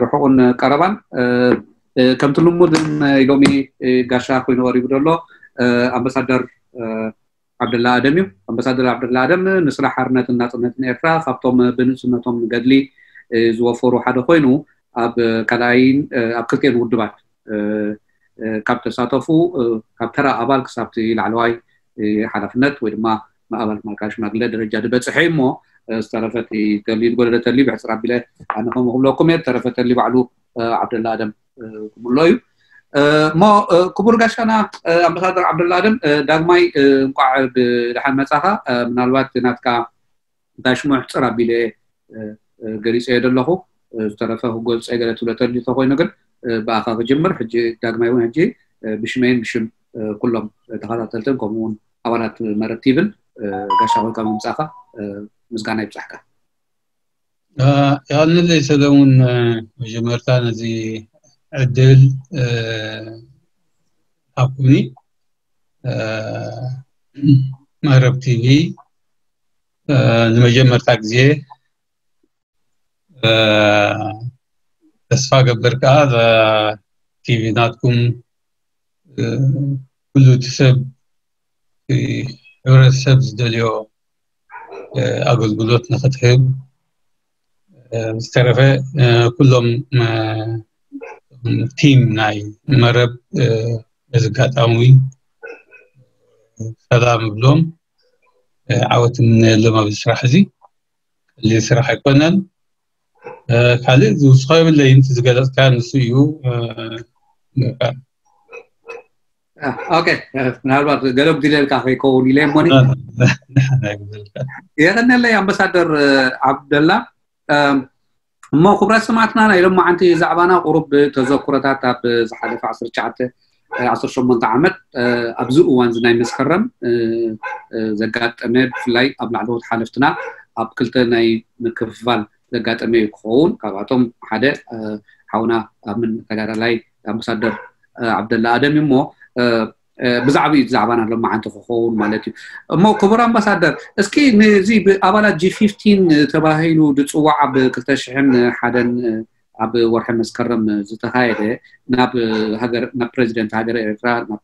ርሑቕን ቀረባን ከምቲ ልሙድ ሎሚ ጋሻ ኮይኑ ቀሪቡ ዘሎ ኣምባሳደር ዓብደላ ኣደም እዩ። ኣምባሳደር ዓብደላ ኣደም ንስራሕ ሓርነትን ናፅነትን ኤርትራ ካብቶም ብንእስነቶም ገድሊ ዝወፈሩ ሓደ ኮይኑ ኣብ ካልኣይን ኣብ ክልቴን ውድባት ካብ ተሳተፉ ካብ ተራ ኣባል ክሳብቲ ላዕለዋይ ሓላፍነት ወይ ድማ ኣባል ማእከላይ ሽማግለ ደረጃ ዝበፅሐ እዩ። እሞ ዝተረፈ ተልዩ ዝጎደለ ተልዩ ብሕፅር ኣቢለ ኣነ ከምኡ ክብለኩም እየ። ዝተረፈ ተልዩ ባዕሉ ዓብደላ ኣደም ክምሎ እዩ። እሞ ክቡር ጋሻና ኣምባሳደር ዓብደላ ኣደም ዳግማይ እንቋዕ ብደሓን መፃኻ። ምናልባት ናትካ እንታይ ሽሙ ሕፅር ኣቢለ ገሊፀዮ ዘለኹ፣ ዝተረፈ ክገልፀ ገለ ትብሎ ተልዩ ተኮይኑ ግን ብኣኻ ክጅምር። ሕጂ ዳግማይ እውን ሕጂ ብሽመይን ብሽም ኩሎም ተኸታተልትን ከምኡ እውን ኣባላት መረብ ቲቪን ጋሻ ኮይንካ ምምፃእካ ምስጋና ይብፃሕካ። የቐንለይ ሰለሙን፣ መጀመርታ ነዚ ዕድል ሃብኩኒ። መረብ ቲቪ ንመጀመርታ ግዜ ተስፋ ገብር ከዓ ቲቪ ናትኩም ኩሉ እቲ ሰብ፣ እቲ ሕብረተሰብ ዝደልዮ ኣገልግሎት ንክትህብ፣ ዝተረፈ ኩሎም ቲም ናይ መረብ በዚ ኣጋጣሚ ሰላም እብሎም፣ ዓወት እምነየሎም ኣብዚ ስራሕ እዚ። ቀሊል ስራሕ ኣይኮነን። ካልእ ዝውስኾ የብለይን። እቲ ዝገለፅካ ንሱ እዩ። ኦኬ፣ ምናልባት ገለ ጉዲለልካ ከይከውን ኢለ እሞኒ። የቐነለይ ኣምባሳደር ዓብደላ። እሞ ክቡራት ሰማዕትና፣ ናይ ሎማዓንቲ ዛዕባና ቁሩብ ተዘክሮታት ኣብ ዝሓለፈ ዓሰርተ ትሽዓተ ዓሰርተ ሸሞንተ ዓመት ኣብዚ እዋን እዚ ናይ መስከረም ዘጋጠመ፣ ብፍላይ ኣብ ላዕለዎት ሓለፍትና ኣብ ክልተ ናይ ምክፍፋል ዘጋጠመ እዩ ክኸውን። ካብኣቶም ሓደ ሓውና ኣብ ምን ተጋዳላይ ኣምባሳደር ዓብደላ ኣደም እዩ። እሞ ብዛዕባ እዩ ዛዕባና ሎማዓንቲ ክኸውን ማለት እዩ። እሞ ክቡር ኣምባሳደር፣ እስኪ ነዚ ብኣባላት ጂ ፊፍቲን ተባሂሉ ዝፅዋዕ ኣብ ክልተ ሽሕን ሓደን ኣብ ወርሒ መስከረም ዝተኻየደ ናብ ሃገር፣ ናብ ፕሬዚደንት ሃገረ ኤርትራ ናብ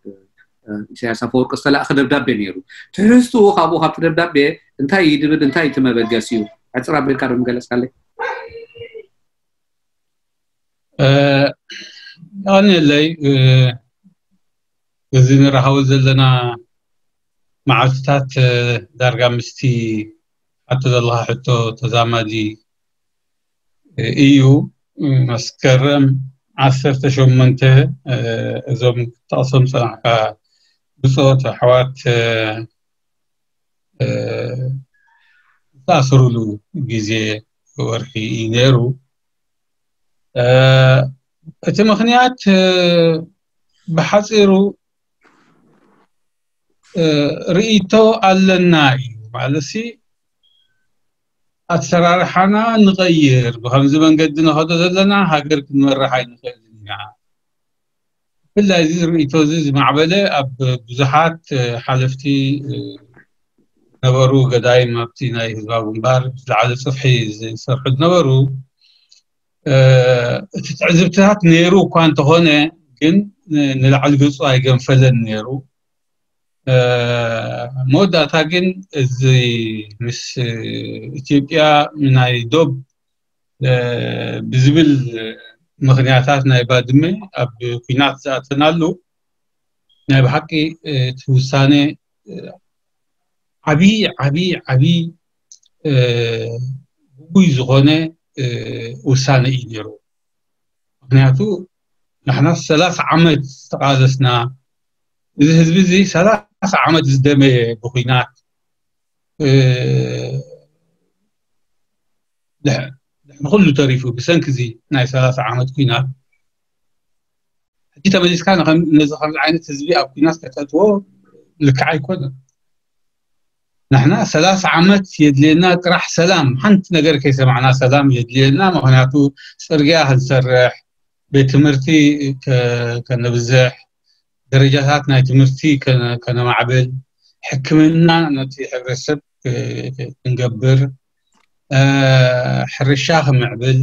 ኢሳያስ ኣፈወርቂ ዝተላእኸ ደብዳቤ ነይሩ። ትሕዝትኡ ካብኡ ካብቲ ደብዳቤ እንታይ እዩ ድብል፣ እንታይ እቲ መበገሲኡ? ሕፅር ኣቢልካ ዶ ምገለፅካለይ? የቐንየለይ። እዚ ንራኸቦ ዘለና መዓልትታት ዳርጋ ምስቲ ሓቶ ዘለኻ ሕቶ ተዛማዲ እዩ። መስከረም ዓሰርተ ሸሞንተ እዞም ክጠቕሶም ዝጸናሕካ ብጾት ኣሕዋት ዝተኣስሩሉ ግዜ ወርሒ እዩ ነይሩ። እቲ ምኽንያት ብሓፂሩ ርእይቶ ኣለና እዩ። ማለትሲ ኣሰራርሓና ንቐይር፣ ብኸምዚ መንገዲ ንኸዶ ዘለና ሃገር ክንመርሕ ኣይንኽእልን ኢና። ብፍላይ እዚ ርእይቶ እዚ ዝማዕበለ ኣብ ብዙሓት ሓለፍቲ ነበሩ፣ ገዳይም ኣብቲ ናይ ህዝባዊ ግንባር ዝለዓለ ጽፍሒ ዝሰርሑ ዝነበሩ። እቲ ትዕዝብትታት ነይሩ እኳ እንተኾነ ግን ንላዕሊ ገጹ ኣይገንፈለን ነይሩ። መወዳእታ ግን እዚ ምስ ኢትዮጵያ ናይ ዶብ ብዝብል ምኽንያታት ናይ ባድመ ኣብ ኲናት ዝኣተናሉ ናይ ብሓቂ እቲ ውሳነ ዓብዪ ዓብዪ ዓብዪ ግጉይ ዝኾነ ውሳነ እዩ ነይሩ። ምኽንያቱ ንሕና ሰላሳ ዓመት ዝተቓለስና፣ እዚ ህዝቢ እዚ ሰላሳ ዓመት ዝደመየ ብኲናት ድሕሪ ኩሉ ተሪፉ ብሰንኪ እዚ ናይ ሰላሳ ዓመት ኲናት ሕጂ ተመሊስካ ነዚ ከምዚ ዓይነት ህዝቢ ኣብ ኲናት ከተእትዎ ልክዕ ኣይኮነን። ንሕና ሰላሳ ዓመት የድልየና ጥራሕ ሰላም፣ ሓንቲ ነገር ከይሰማዕና ሰላም የድልየና። ምኽንያቱ ፅርግያ ክንሰርሕ፣ ቤት ትምህርቲ ከነብዝሕ፣ ደረጃታት ናይ ትምህርቲ ከነማዕብል፣ ሕክምና ነቲ ሕብረተሰብ ክንገብር፣ ሕርሻ ክምዕብል፣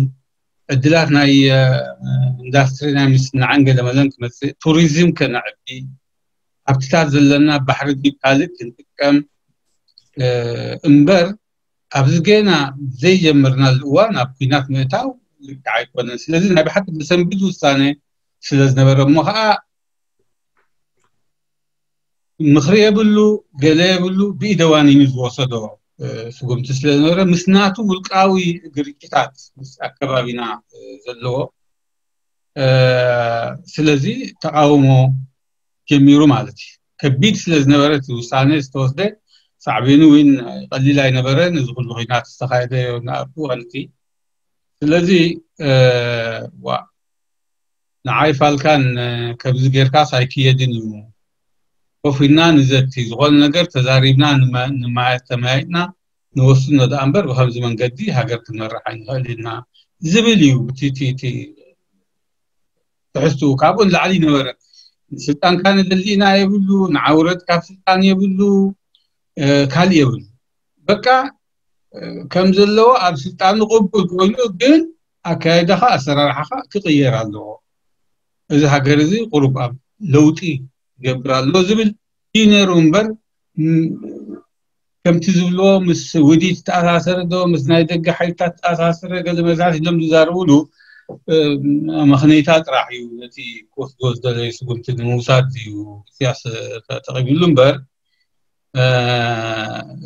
ዕድላት ናይ ኢንዳስትሪ ናይ ምስንዓን ገለመለን ክመፅእ፣ ቱሪዝም ከነዕቢ፣ ሃብትታት ዘለና ባሕሪ ካልእ ክንጥቀም እምበር ኣብዚ ገና ዘይጀመርናሉ እዋን ኣብ ኩናት ምእታው ልክዕ ኣይኮነን። ስለዚ ናይ ብሓቂ ብሰንብድ ውሳነ ስለ ዝነበረ እሞ ከዓ ምኽሪ የብሉ፣ ገለ የብሉ፣ ብኢደዋኒኑ ዝወሰዶ ስጉምቲ ስለ ዝነበረ ምስ ናቱ ውልቃዊ ግርጭታት ምስ ኣከባቢና ዘለዎ ስለዚ ተቃውሞ ጀሚሩ ማለት እዩ። ከቢድ ስለ ዝነበረ እቲ ውሳነ ዝተወስደ ሳዕቤኑ እውን ቀሊል ኣይነበረን። እዚ ኩሉ ኩናት ዝተኻየደ ኣብቲ እዋን እቲ ስለዚ ዋ ንዓይ ፋልካን ከምዚ ጌርካስ ኣይክየድን እዩ። ኮፍ ኢልና ንዘቲ፣ ዝኾነ ነገር ተዛሪብና ተመያይጥና ንወስኖ ደኣ እምበር ብከምዚ መንገዲ ሃገር ክንመርሕ ኣይንኽእል ኢና ዝብል እዩ። እቲ ትሕዝትኡ ካብኡ ንላዕሊ ይነበረ። ንስልጣንካ ንደሊ ኢና የብሉ፣ ንዓውረድ ካብ ስልጣን የብሉ፣ ካልእ የብሉ። በቃ ከም ዘለዎ ኣብ ስልጣኑ ቅቡል ኮይኑ ግን ኣካይዳኻ ኣሰራርሓኻ ክቕየር ኣለዎ። እዚ ሃገር እዚ ቁሩብ ኣብ ለውጢ ይገብር ኣሎ ዝብል እዩ ነይሩ እምበር ከምቲ ዝብልዎ ምስ ውዲት ዝተኣሳሰረ ዶ ምስ ናይ ደገ ሓይልታት ዝተኣሳሰረ ገለ መዛት ኢሎም ዝዛረብሉ መኽነይታ ጥራሕ እዩ። ነቲ ክወስድዎ ዝደለዩ ስጉምቲ ንምውሳድ እዩ ኢሳያስ ተጠቒምሉ እምበር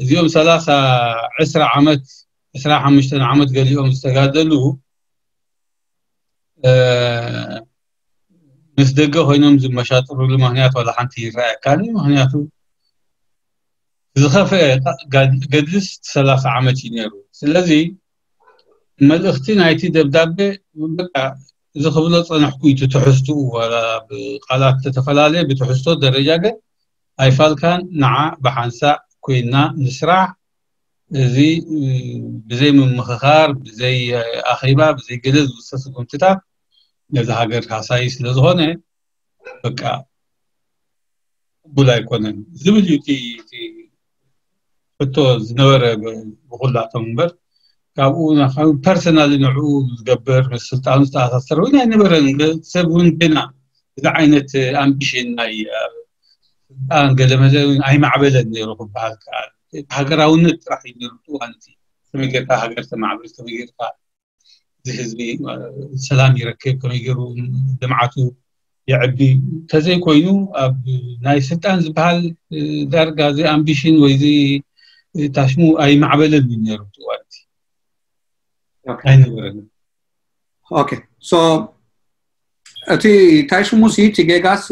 እዚኦም ሰላሳ ዕስራ ዓመት ዕስራ ሓሙሽተ ዓመት ገሊኦም ዝተጋደሉ ምስ ደገ ኮይኖም ዝመሻጥሩሉ ምክንያት ዋላ ሓንቲ ይረኣየካኒ። ምክንያቱ ዝኸፍአ ገድልስ ሰላሳ ዓመት እዩ ነይሩ። ስለዚ መልእኽቲ ናይቲ ደብዳቤ በቃ እዚ ክብሎ ፀነሕኩ እዩ ትሕዝትኡ ዋላ ብቃላት ተተፈላለየ ብትሕዝቶ ደረጃ ግን ኣይፋልካን ንዓ ብሓንሳእ ኮይና ንስራሕ እዚ ብዘይ ምምኽኻር ብዘይ ኣኼባ ብዘይ ገለ ዝውሰድ ስጉምትታት ነዚ ሃገር ሃሳዪ ስለዝኾነ በቃ ቅቡል ኣይኮነን ዝብል እዩ እቲ ሕቶ ዝነበረ ብኩላቶም እምበር ካብኡ ፐርሰናሊ ንዕኡ ዝገብር ምስ ስልጣኑ ዝተኣሳሰረ እውን ኣይነበረን። ሰብ እውን ገና እዚ ዓይነት ኣምቢሽን ናይ ስልጣን ገለመለ ኣይማዕበለን ነይሩ ክበሃል ከኣል። ሃገራውነት ጥራሕ እዩ ነይሩ። እዋን እቲ ከመይ ጌርካ ሃገር ተማዕብል፣ ከመይ ጌርካ እዚ ህዝቢ ሰላም ይረክብ፣ ከመይ ገይሩ ልምዓቱ የዕቢ ተዘይኮይኑ ኣብ ናይ ስልጣን ዝበሃል ዳርጋ እዚ ኣምቢሽን ወይ እዚ ታሽሙ ኣይማዕበለን እዩ ነይሩ እቲ እዋን እቲ ኣይነበረን። ኦኬ ሶ እቲ ታይ ሽሙ ሲ እቲ ጌጋስ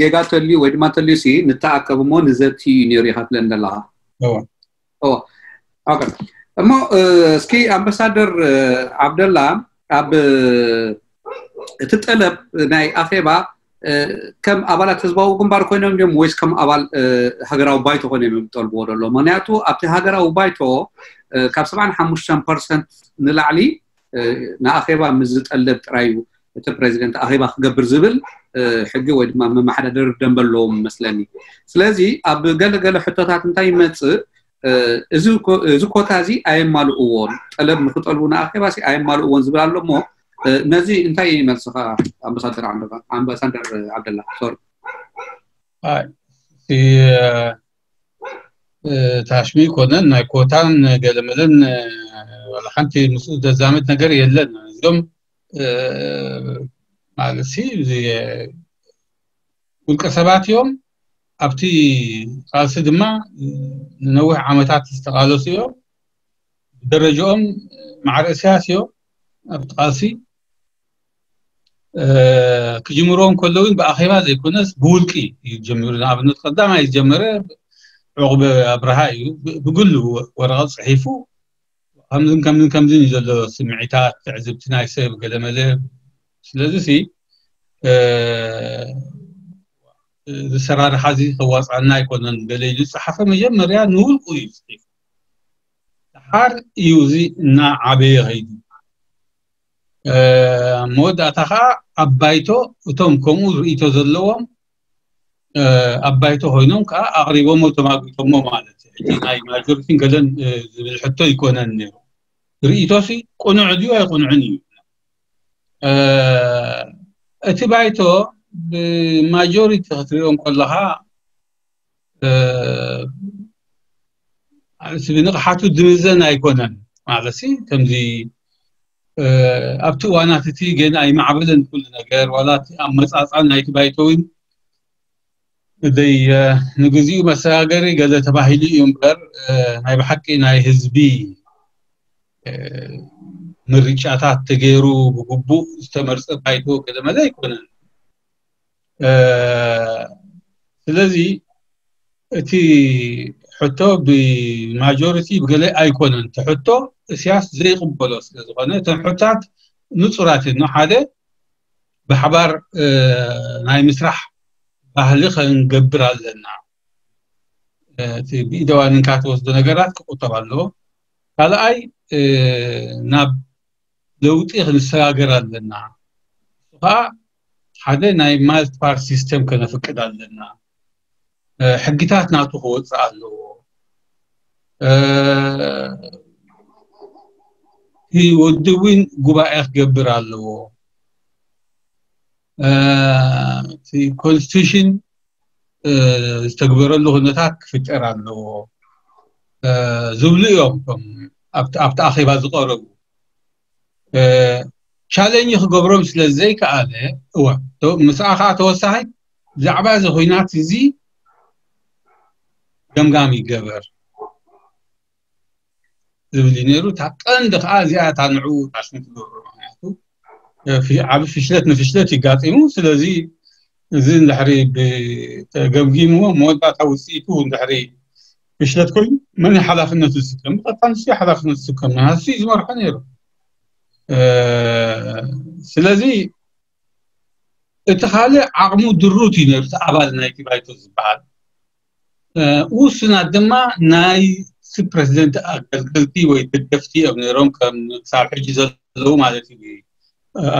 ጌጋ ተልዩ ወይ ድማ ተልዩ ሲ ንተኣከብ እሞ ንዘቲ እዩ ነይሩ ኢኻ ትብለን ዘለኻ። እሞ እስኪ ኣምባሳደር ዓብደላ ኣብ እቲ ጠለብ ናይ ኣኼባ ከም ኣባላት ህዝባዊ ግንባር ኮይኖም እዮም ወይስ ከም ኣባል ሃገራዊ ባይቶ ኮይኖም እዮም ዝጠልብዎ ዘሎ? ምክንያቱ ኣብቲ ሃገራዊ ባይቶ ካብ ሰብዓን ሓሙሽተን ፐርሰንት ንላዕሊ ንኣኼባ ምስ ዝጠለብ ጥራይ እዩ እቲ ፕሬዚደንት ኣኼባ ክገብር ዝብል ሕጊ ወይ ድማ መመሓዳደሪ ደንበ ኣለዎም መስለኒ። ስለዚ ኣብ ገለገለ ሕቶታት እንታይ ይመፅእ እዚ ኮታ እዚ ኣየማልእዎን ጠለብ ንክጠልቡ ንኣኼባ ሲ ኣየማልእዎን ዝብል ኣሎ እሞ ነዚ እንታይ ይመልስኻ ኣምባሳደር ኣምባሳደር ዓብደላ ሶሪ ታሽሚ ኮነን ናይ ኮታን ገለመለን ወላ ሓንቲ ምስኡ ዘዛመድ ነገር የለን። እዚኦም ማለት ውልቀ ሰባት እዮም። ኣብቲ ቃልሲ ድማ ንነዊሕ ዓመታት ዝተቃለሱ እዮም። ብደረጃኦም ማዕረ እስያስ እዮም ኣብቲ ቃልሲ ክጅምርዎ እንከሎ እውን ብኣኼባ ዘይኮነስ ብውልቂ እዩ ጀሚሩ። ንኣብነት ቀዳማይ ዝጀመረ ዑቕበ ኣብርሃ እዩ። ብግሉ ወረቐት ፅሒፉ ከምዝን ከምዝን ከምዝን እዩ ዘሎ ስምዒታት ትዕዝብቲ ናይ ሰብ ገለመለ። ስለዚ ሲ ዝሰራርሓ እዚ ከዋፅኣና ኣይኮነን ገለ ኢሉ ዝፀሓፈ መጀመርያ ንውልቁ እዩ ፅሒፉ። ድሓር እዩ እዚ እናዓበየ ከይዱ መወዳእታ ከዓ ኣብ ባይቶ እቶም ከምኡ ርእይቶ ዘለዎም ኣብ ባይቶ ኮይኖም ከዓ ኣቕሪቦሞ ተማጒቶሞ ማለት እዩ። እቲ ናይ ማጆሪቲን ገለን ዝብል ሕቶ ይኮነን ነይሩ። ርእይቶሲ ቅኑዕ ድዩ ኣይቅኑዕን እዩ። እቲ ባይቶ ብማጆሪቲ ክትሪኦም ከለካ እቲ ብንቕሓቱ ድምዘን ኣይኮነን ማለት ሲ ከምዚ ኣብቲ እዋናት እቲ ገና ኣይማዕበለን ኩሉ ነገር ዋላ እቲ ኣመፃፃ ናይቲ ባይቶ እውን እደይ ንግዚኡ መሰጋገሪ ገለ ተባሂሉ እዩ እምበር ናይ ብሓቂ ናይ ህዝቢ ምርጫታት ተገይሩ ብግቡእ ዝተመርፀ ባይቶ ገለመለ ኣይኮነን። ስለዚ እቲ ሕቶ ብማጆሪቲ ብገለ ኣይኮነን። እቲ ሕቶ እስያስ ዘይቅበሎ ስለዝኾነ እተን ሕቶታት ንፁራት እየን። ሓደ ብሓባር ናይ ምስራሕ ባህሊ ከንገብር ኣለና። እቲ ብኢደዋንንካ ትወስዶ ነገራት ክቁጠብ ኣለዎ። ካልኣይ ናብ ለውጢ ክንሰጋገር ኣለና። እሱ ከዓ ሓደ ናይ ማልቲፓርቲ ሲስተም ከነፍቅድ ኣለና። ሕግታት ናቱ ክወፅእ ኣለዎ። እቲ ወዲ እውን ጉባኤ ክገብር ኣለዎ። እቲ ኮንስቲቱሽን ዝተግበረሉ ኩነታት ክፍጠር ኣለዎ ዝብሉ እዮም። ኣብቲ ኣኼባ ዝቀረቡ ቻለንጅ ክገብሮም ስለ ዘይከኣለ እወ ምስኣ ከዓ ተወሳኺ ብዛዕባ እዚ ኩናት እዚ ገምጋም ይገበር ዝብል እዩ ነይሩ። እታ ቀንዲ ከዓ እዚኣ እታ ንዕኡ ታሽሙ ትገብሮ ምክንያቱ ዓብ ፍሽለት ንፍሽለት ይጋጢሙ። ስለዚ እዚ እንድሕሪ ተገምጊምዎ መወዳእታ ውፅኢቱ እንድሕሪ ፍሽለት ኮይኑ መን ሓላፍነቱ ዝስከም? ብቐጥታ ንሱ ሓላፍነቱ ዝስከም ንሱ እዩ ዝመርሖ ነይሩ። ስለዚ እቲ ካልእ ዓቕሙ ድሩት እዩ ነይሩ። እቲ ኣባል ናይቲ ባይቶ ዝበሃል ውሱናት ድማ ናይ ፕረዚደንት ኣገልገልቲ ወይ ደገፍቲ እዮም ነይሮም፣ ከም ክሳብ ሕጂ ዘለዉ ማለት እዩ።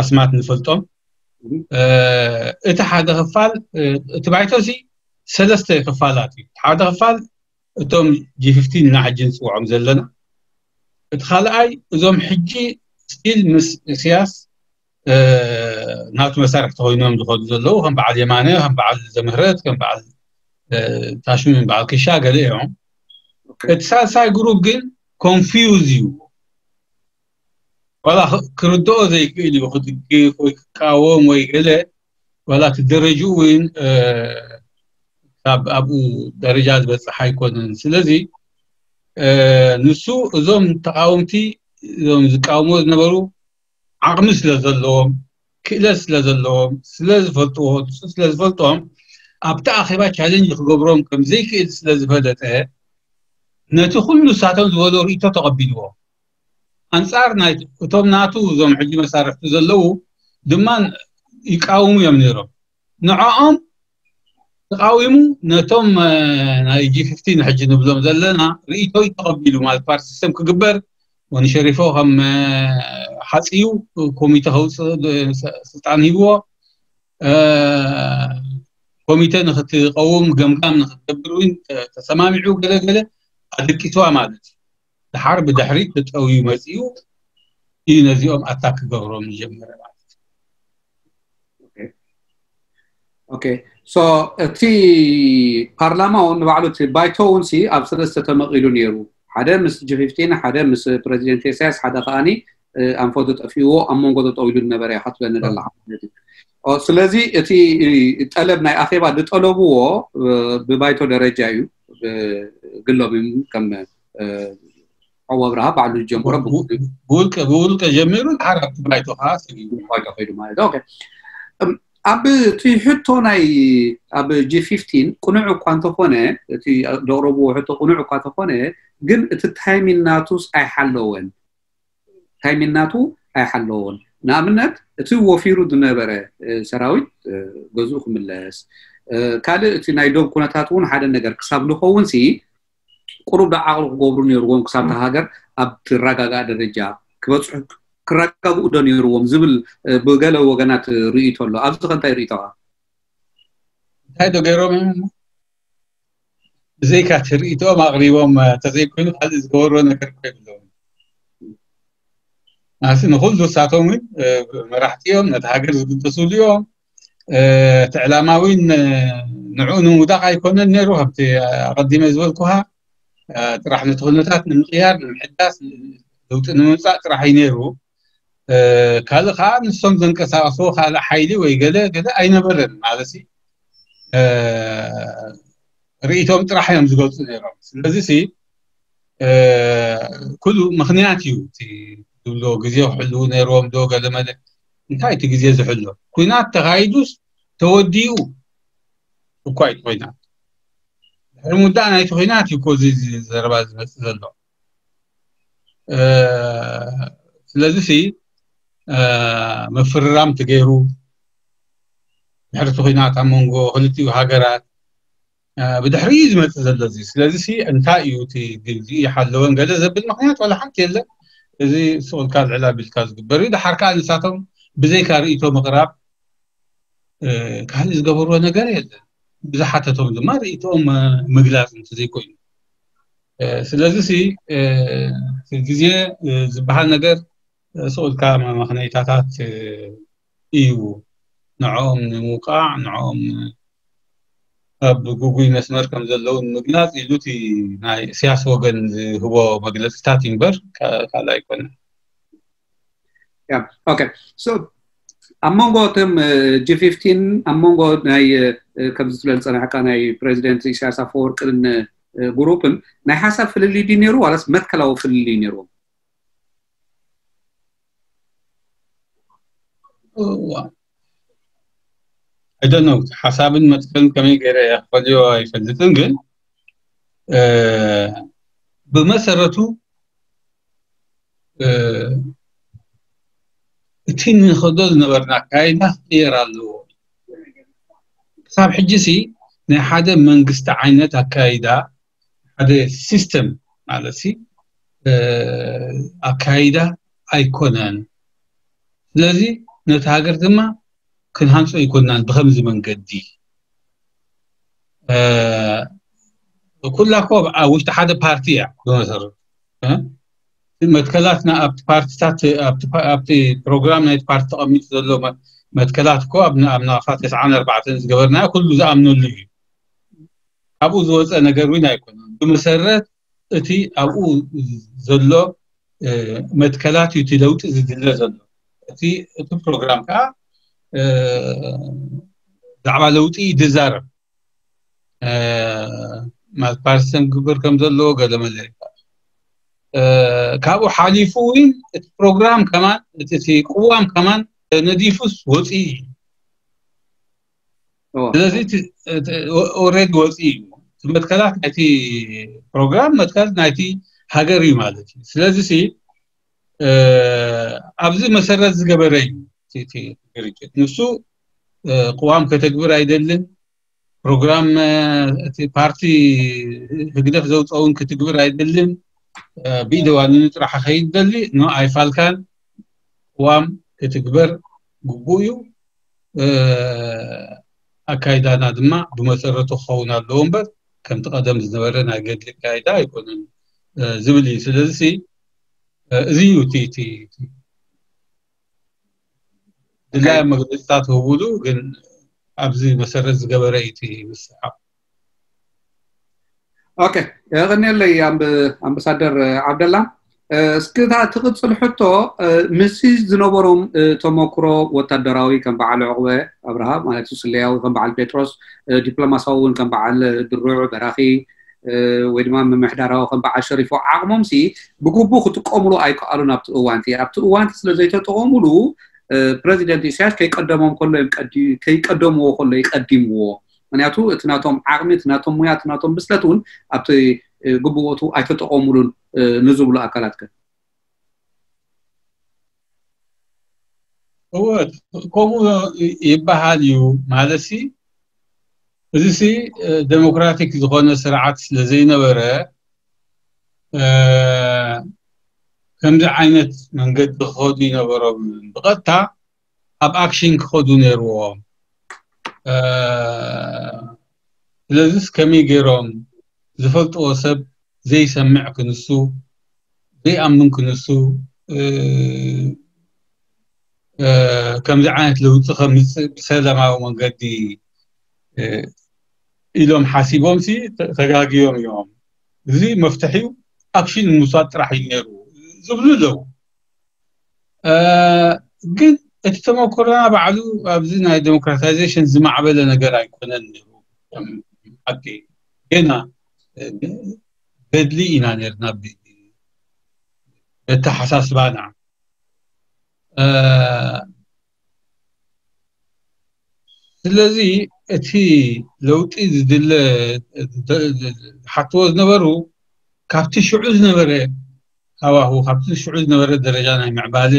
ኣስማት ንፈልጦም። እቲ ሓደ ክፋል እቲ ባይቶ እዚ ሰለስተ ክፋላት እዩ። ሓደ ክፋል እቶም ጂ ፊፍቲን ኢና ሕጂ ንፅውዖም ዘለና። እቲ ካልኣይ እዞም ሕጂ ስቲል ምስ እስያስ ናቱ መሳርሕቲ ኮይኖም ዝኸዱ ዘለዉ ከም በዓል የማነ ከም በዓል ዘምህረት ከም በዓል ታሽሙ በዓል ክሻ ገለ እዮም። እቲ ሳልሳይ ግሩፕ ግን ኮንፊውዝ እዩ። ዋላ ክርድኦ ዘይክእል እዩ ክድግፍ ወይ ክቃወም ወይ ገለ ዋላ እቲ ደረጅኡ እውን ካብ ኣብኡ ደረጃ ዝበፅሕ ኣይኮነን። ስለዚ ንሱ እዞም ተቃወምቲ እዞም ዝቃወሞ ዝነበሩ ዓቕሚ ስለ ዘለዎም ክእለት ስለ ዘለዎም ስለ ዝፈልጥዎ ንሱ ስለ ዝፈልጦም ኣብቲ ኣኼባ ቻለንጅ ክገብሮም ከም ዘይክእል ስለ ዝፈለጠ ነቲ ኩሉ ንሳቶም ዝበሎ ርእይቶ ተቐቢልዎ። ኣንጻር ናይ እቶም ናቱ እዞም ሕጂ መሳርሕቱ ዘለዉ ድማ ይቃወሙ እዮም ነይሮም። ንዕኦም ተቃዊሙ ነቶም ናይ ጂ ፊፍቲን ሕጂ ንብሎም ዘለና ርእይቶ ተቐቢሉ ማለት ፓርቲ ሲስተም ክግበር ወንሸሪፎ ከም ሓፅዩ ኮሚተ ከውፅእ ስልጣን ሂብዎ። ኮሚተ ንክትቀውም ገምጋም ንክትገብር እውን ተሰማሚዑ ገለገለ ኣደቂስዋ ማለት እዩ። ድሓር ብድሕሪት ተጠውዩ መፂኡ እዩ ነዚኦም ኣታክ ክገብሮም ዝጀመረ ማለት እዩ። ኦኬ ሶ እቲ ፓርላማ እውን ንባዕሉ እቲ ባይቶ እውን ሲ ኣብ ሰለስተ ተመቒሉ ነይሩ። ሓደ ምስ ጂ ፊፍቲን ሓደ ምስ ፕረዚደንት ኢሳያስ ሓደ ከዓኒ ኣንፈቱ ጠፊእዎ ኣብ መንጎ ተጠው ኢሉ ዝነበረ ኢኻ ትብለኒ ዘለኻ ማለት እዩ። ስለዚ እቲ ጠለብ ናይ ኣኼባ ዝጠለብዎ ብባይቶ ደረጃ እዩ። ግሎም እዮም ከም ሓው ኣብርሃ ባዕሉ ዝጀመሮ ብውልቀ ብውልቀ ጀሚሩ ድሓር ኣብቲ ባይቶ ከዓ ሰጊሩ ባይቶ ከይዱ ማለት ኦኬ ኣብ እቲ ሕቶ ናይ ኣብ ጂ ፊፍቲን ቅኑዕ እኳ እንተኾነ እቲ ዘቕረብዎ ሕቶ ቅኑዕ እኳ እንተኾነ ግን እቲ ታይሚን ናቱስ ኣይሓለወን። ታይሚን ናቱ ኣይሓለወን። ንኣብነት እቲ ወፊሩ ዝነበረ ሰራዊት ገዝኡ ክምለስ ካልእ እቲ ናይ ዶብ ኩነታት እውን ሓደ ነገር ክሳብ ንኸውን ሲ ቁሩብ ዶ ዓቕሊ ክገብሩ ነይርዎም ክሳብ እታ ሃገር ኣብ ትረጋጋእ ደረጃ ክበፅሑ ክረጋግኡ ዶ ነይርዎም ዝብል ብገለ ወገናት ርእይቶ ኣሎ። ኣብዚ ከ እንታይ ርእይቶኻ? እንታይ ዶ ገይሮም እዮም? ብዘይካ እቲ ርእይቶኦም ኣቕሪቦም ተዘይኮይኑ ካልእ ዝገበርዎ ነገር እኮ የብሎም። ኣሲ ንኹሉ ንሳቶም እውን መራሕቲ እዮም፣ ነቲ ሃገር ዝግደስሉ እዮም። እቲ ዕላማ እውን ንዕኡ ንምውዳቕ ኣይኮነን ነይሩ። ከምቲ ኣቐዲመ ዝበልኩኻ ጥራሕ ነቲ ኩነታት ንምቕያር፣ ንምሕዳስ፣ ለውጢ ንምምፃእ ጥራሕ እዩ ነይሩ። ካልእ ከዓ ንሶም ዘንቀሳቐስዎ ካልእ ሓይሊ ወይ ገለ ገለ ኣይነበረን ማለት እዩ። ርእይቶም ጥራሕ እዮም ዝገልፁ ነይሮም። ስለዚ ሲ ኩሉ ምኽንያት እዩ። እቲ ዝብሎ ግዜ ክሕልዉ ነይርዎም ዶ ገለ መለ፣ እንታይ እቲ ግዜ ዝሕሎ? ኩናት ተኻይዱስ ተወዲኡ እኳ እዩ ኩናት። ድሕሪ ምውዳእ ናይቲ ኩናት እዩ እኮ እዚ ዘረባ ዝመፅእ ዘሎ። ስለዚ ሲ ምፍርራም ተገይሩ ድሕሪ እቲ ኩናት ኣብ መንጎ ክልቲኡ ሃገራት ብድሕሪ እዩ ዝመፅእ ዘሎ እዚ። ስለዚ ሲ እንታይ እዩ እቲ ግልፂ ይሓለወን ገለ ዘብል ምክንያት ዋላ ሓንቲ የለን። እዚ ስቕ ኢልካ ልዕል ኣቢልካ ዝግበር እዩ። ድሓር ከዓ ንሳቶም ብዘይካ ርእይቶ ምቕራብ ካልእ ዝገበርዎ ነገር የለን። ብዝሓተቶም ድማ ርእይቶኦም ምግላፅ እንተዘይኮይኑ። ስለዚ ሲ ግዜ ዝበሃል ነገር ስቕ ኢልካ መመኽነይታታት እዩ። ንዕኦም ንምውቃዕ፣ ንዕኦም ኣብ ግጉይ መስመር ከም ዘለዉ ንምግላፅ ኢሉ እቲ ናይ እስያስ ወገን ዝህቦ መግለፅታት እዩ እምበር ካልእ ኣይኮነን። ኦኬ፣ ኣብ መንጎ እቶም ጂ ፊፍቲን ኣብ መንጎ ናይ ከምዚ ትብል ዝፀናሕካ ናይ ፕሬዚደንት ኢሳያስ ኣፈወርቅን ግሩፕን ናይ ሓሳብ ፍልልይ ድዩ ነይሩ ዋላስ መትከላዊ ፍልልይ ነይርዎም? I don't know፣ ሓሳብን መትከልን ከመይ ገይረ ክፈልዮ ኣይፈልጥን፣ ግን ብመሰረቱ እቲ ንኸዶ ዝነበርና ኣካይዳ ክቕየር ኣለዎ። ክሳብ ሕጂ ሲ ናይ ሓደ መንግስቲ ዓይነት ኣካይዳ፣ ሓደ ሲስተም ማለት ሲ ኣካይዳ ኣይኮነን። ስለዚ ነቲ ሃገር ድማ ክንሃንፆ ኣይኮናን ብከምዚ መንገዲ። ኩላ እኮ ኣብ ውሽጢ ሓደ ፓርቲ እያ ብመሰረቱ። መትከላትና ኣብቲ ፓርቲታት ኣብቲ ፕሮግራም ናይቲ ፓርቲ ተቐሚጡ ዘሎ መትከላት እኮ ኣብ ናቕፋ ተስዓን ኣርባዕተን ዝገበርናዮ ኩሉ ዝኣምነሉ እዩ። ካብኡ ዝወፀ ነገር እውን ኣይኮነን። ብመሰረት እቲ ኣብኡ ዘሎ መትከላት እዩ እቲ ለውጢ ዝድለ ዘሎ። እቲ ፕሮግራም ከዓ ብዛዕባ ለውጢ እዩ ዝዛረብ። ማለት ፓርቲሰን ክግበር ከም ዘለዎ ገለ መለ። ካብኡ ሓሊፉ እውን እቲ ፕሮግራም ከማን እቲ ቅዋም ከማን ተነዲፉስ ወፂኡ እዩ። ስለዚ ኦልሬዲ ወፂኡ እዩ። እቲ መትከላት ናይቲ ፕሮግራም መትከል ናይቲ ሃገር እዩ ማለት እዩ። ስለዚ ሲ ኣብዚ መሰረት ዝገበረ እዩ። ግርጭት ንሱ ቅዋም ከተግብር ኣይደልን። ፕሮግራም እቲ ፓርቲ ህግደፍ ዘውፀውን ክትግብር ኣይደልን። ብኢደዋንኑ ጥራሕ ከይድ ደሊ ኖ ኣይፋልካን። ቅዋም ክትግበር ግቡእ እዩ። ኣካይዳና ድማ ብመሰረቱ ክኸውን ኣለዎ እምበር ከምቲ ቀደም ዝነበረ ናይ ገድሊ ኣካይዳ ኣይኮነን ዝብል እዩ። ስለዚ እዚ እዩ እቲ ድላይ መግለፅታት ህቡሉ ግን ኣብዚ መሰረት ዝገበረ እዩ እቲ ምስሓብ። ኦኬ፣ የቐንየለይ ኣምባሳደር ዓብደላ። እስኪ እታ ትቕፅል ሕቶ፣ ምስዚ ዝነበሮም ተመክሮ ወታደራዊ ከም በዓል ዕቑበ ኣብርሃ ማለት እዩ፣ ስለያዊ ከም በዓል ጴጥሮስ፣ ዲፕሎማሳዊ እውን ከም በዓል ድሩዕ በራኺ፣ ወይ ድማ ምምሕዳራዊ ከም በዓል ሸሪፎ ዓቕሞም ሲ ብግቡእ ክጥቀምሉ ኣይከኣሉን። ኣብቲ እዋንቲ ኣብቲ እዋንቲ ስለ ዘይተጠቐሙሉ ፕረዚደንት ኢሳያስ ከይቀደሞም ከሎ እዮም ቀዲ- ከይቀደምዎ ከሎ ይቀዲምዎ። ምክንያቱ እቲ ናቶም ዓቕሚ፣ እቲ ናቶም ሙያ፣ እቲ ናቶም ብስለት እውን ኣብቲ ግቡእ ቦትኡ ኣይተጠቐሙሉን ንዝብሉ ኣካላት ከ? እወ፣ ከምኡ ይበሃል እዩ ማለት ሲ። እዚ ሲ ደሞክራቲክ ዝኾነ ስርዓት ስለ ዘይነበረ ከምዚ ዓይነት መንገዲ ክኸዱ ይነበሮም። ብቐጥታ ኣብ ኣክሽን ክኸዱ ነይርዎም። ስለዚስ ከመይ ገይሮም ዝፈልጥዎ ሰብ ዘይሰምዕ ክንሱ ዘይኣምን ክንሱ ከምዚ ዓይነት ለውጢ ከምፅእ ብሰላማዊ መንገዲ ኢሎም ሓሲቦም ሲ ተጋግዮም እዮም። እዚ መፍትሒው ኣክሽን ምውሳድ ጥራሕ እዩ ነይሩ ዝብሉ ኣለዉ። ግን እቲ ተመክሮና ባዕሉ ኣብዚ ናይ ዴሞክራታይዜሽን ዝማዕበለ ነገር ኣይኮነን ነይሩ። ሓቂ ገና ገድሊ ኢና ነርና በተሓሳስባና። ስለዚ እቲ ለውጢ ዝድለ ሓትዎ ዝነበሩ ካብቲ ሽዑ ዝነበረ ሃዋሁ ካብቲ ሽዑ ዝነበረ ደረጃ ናይ ምዕባለ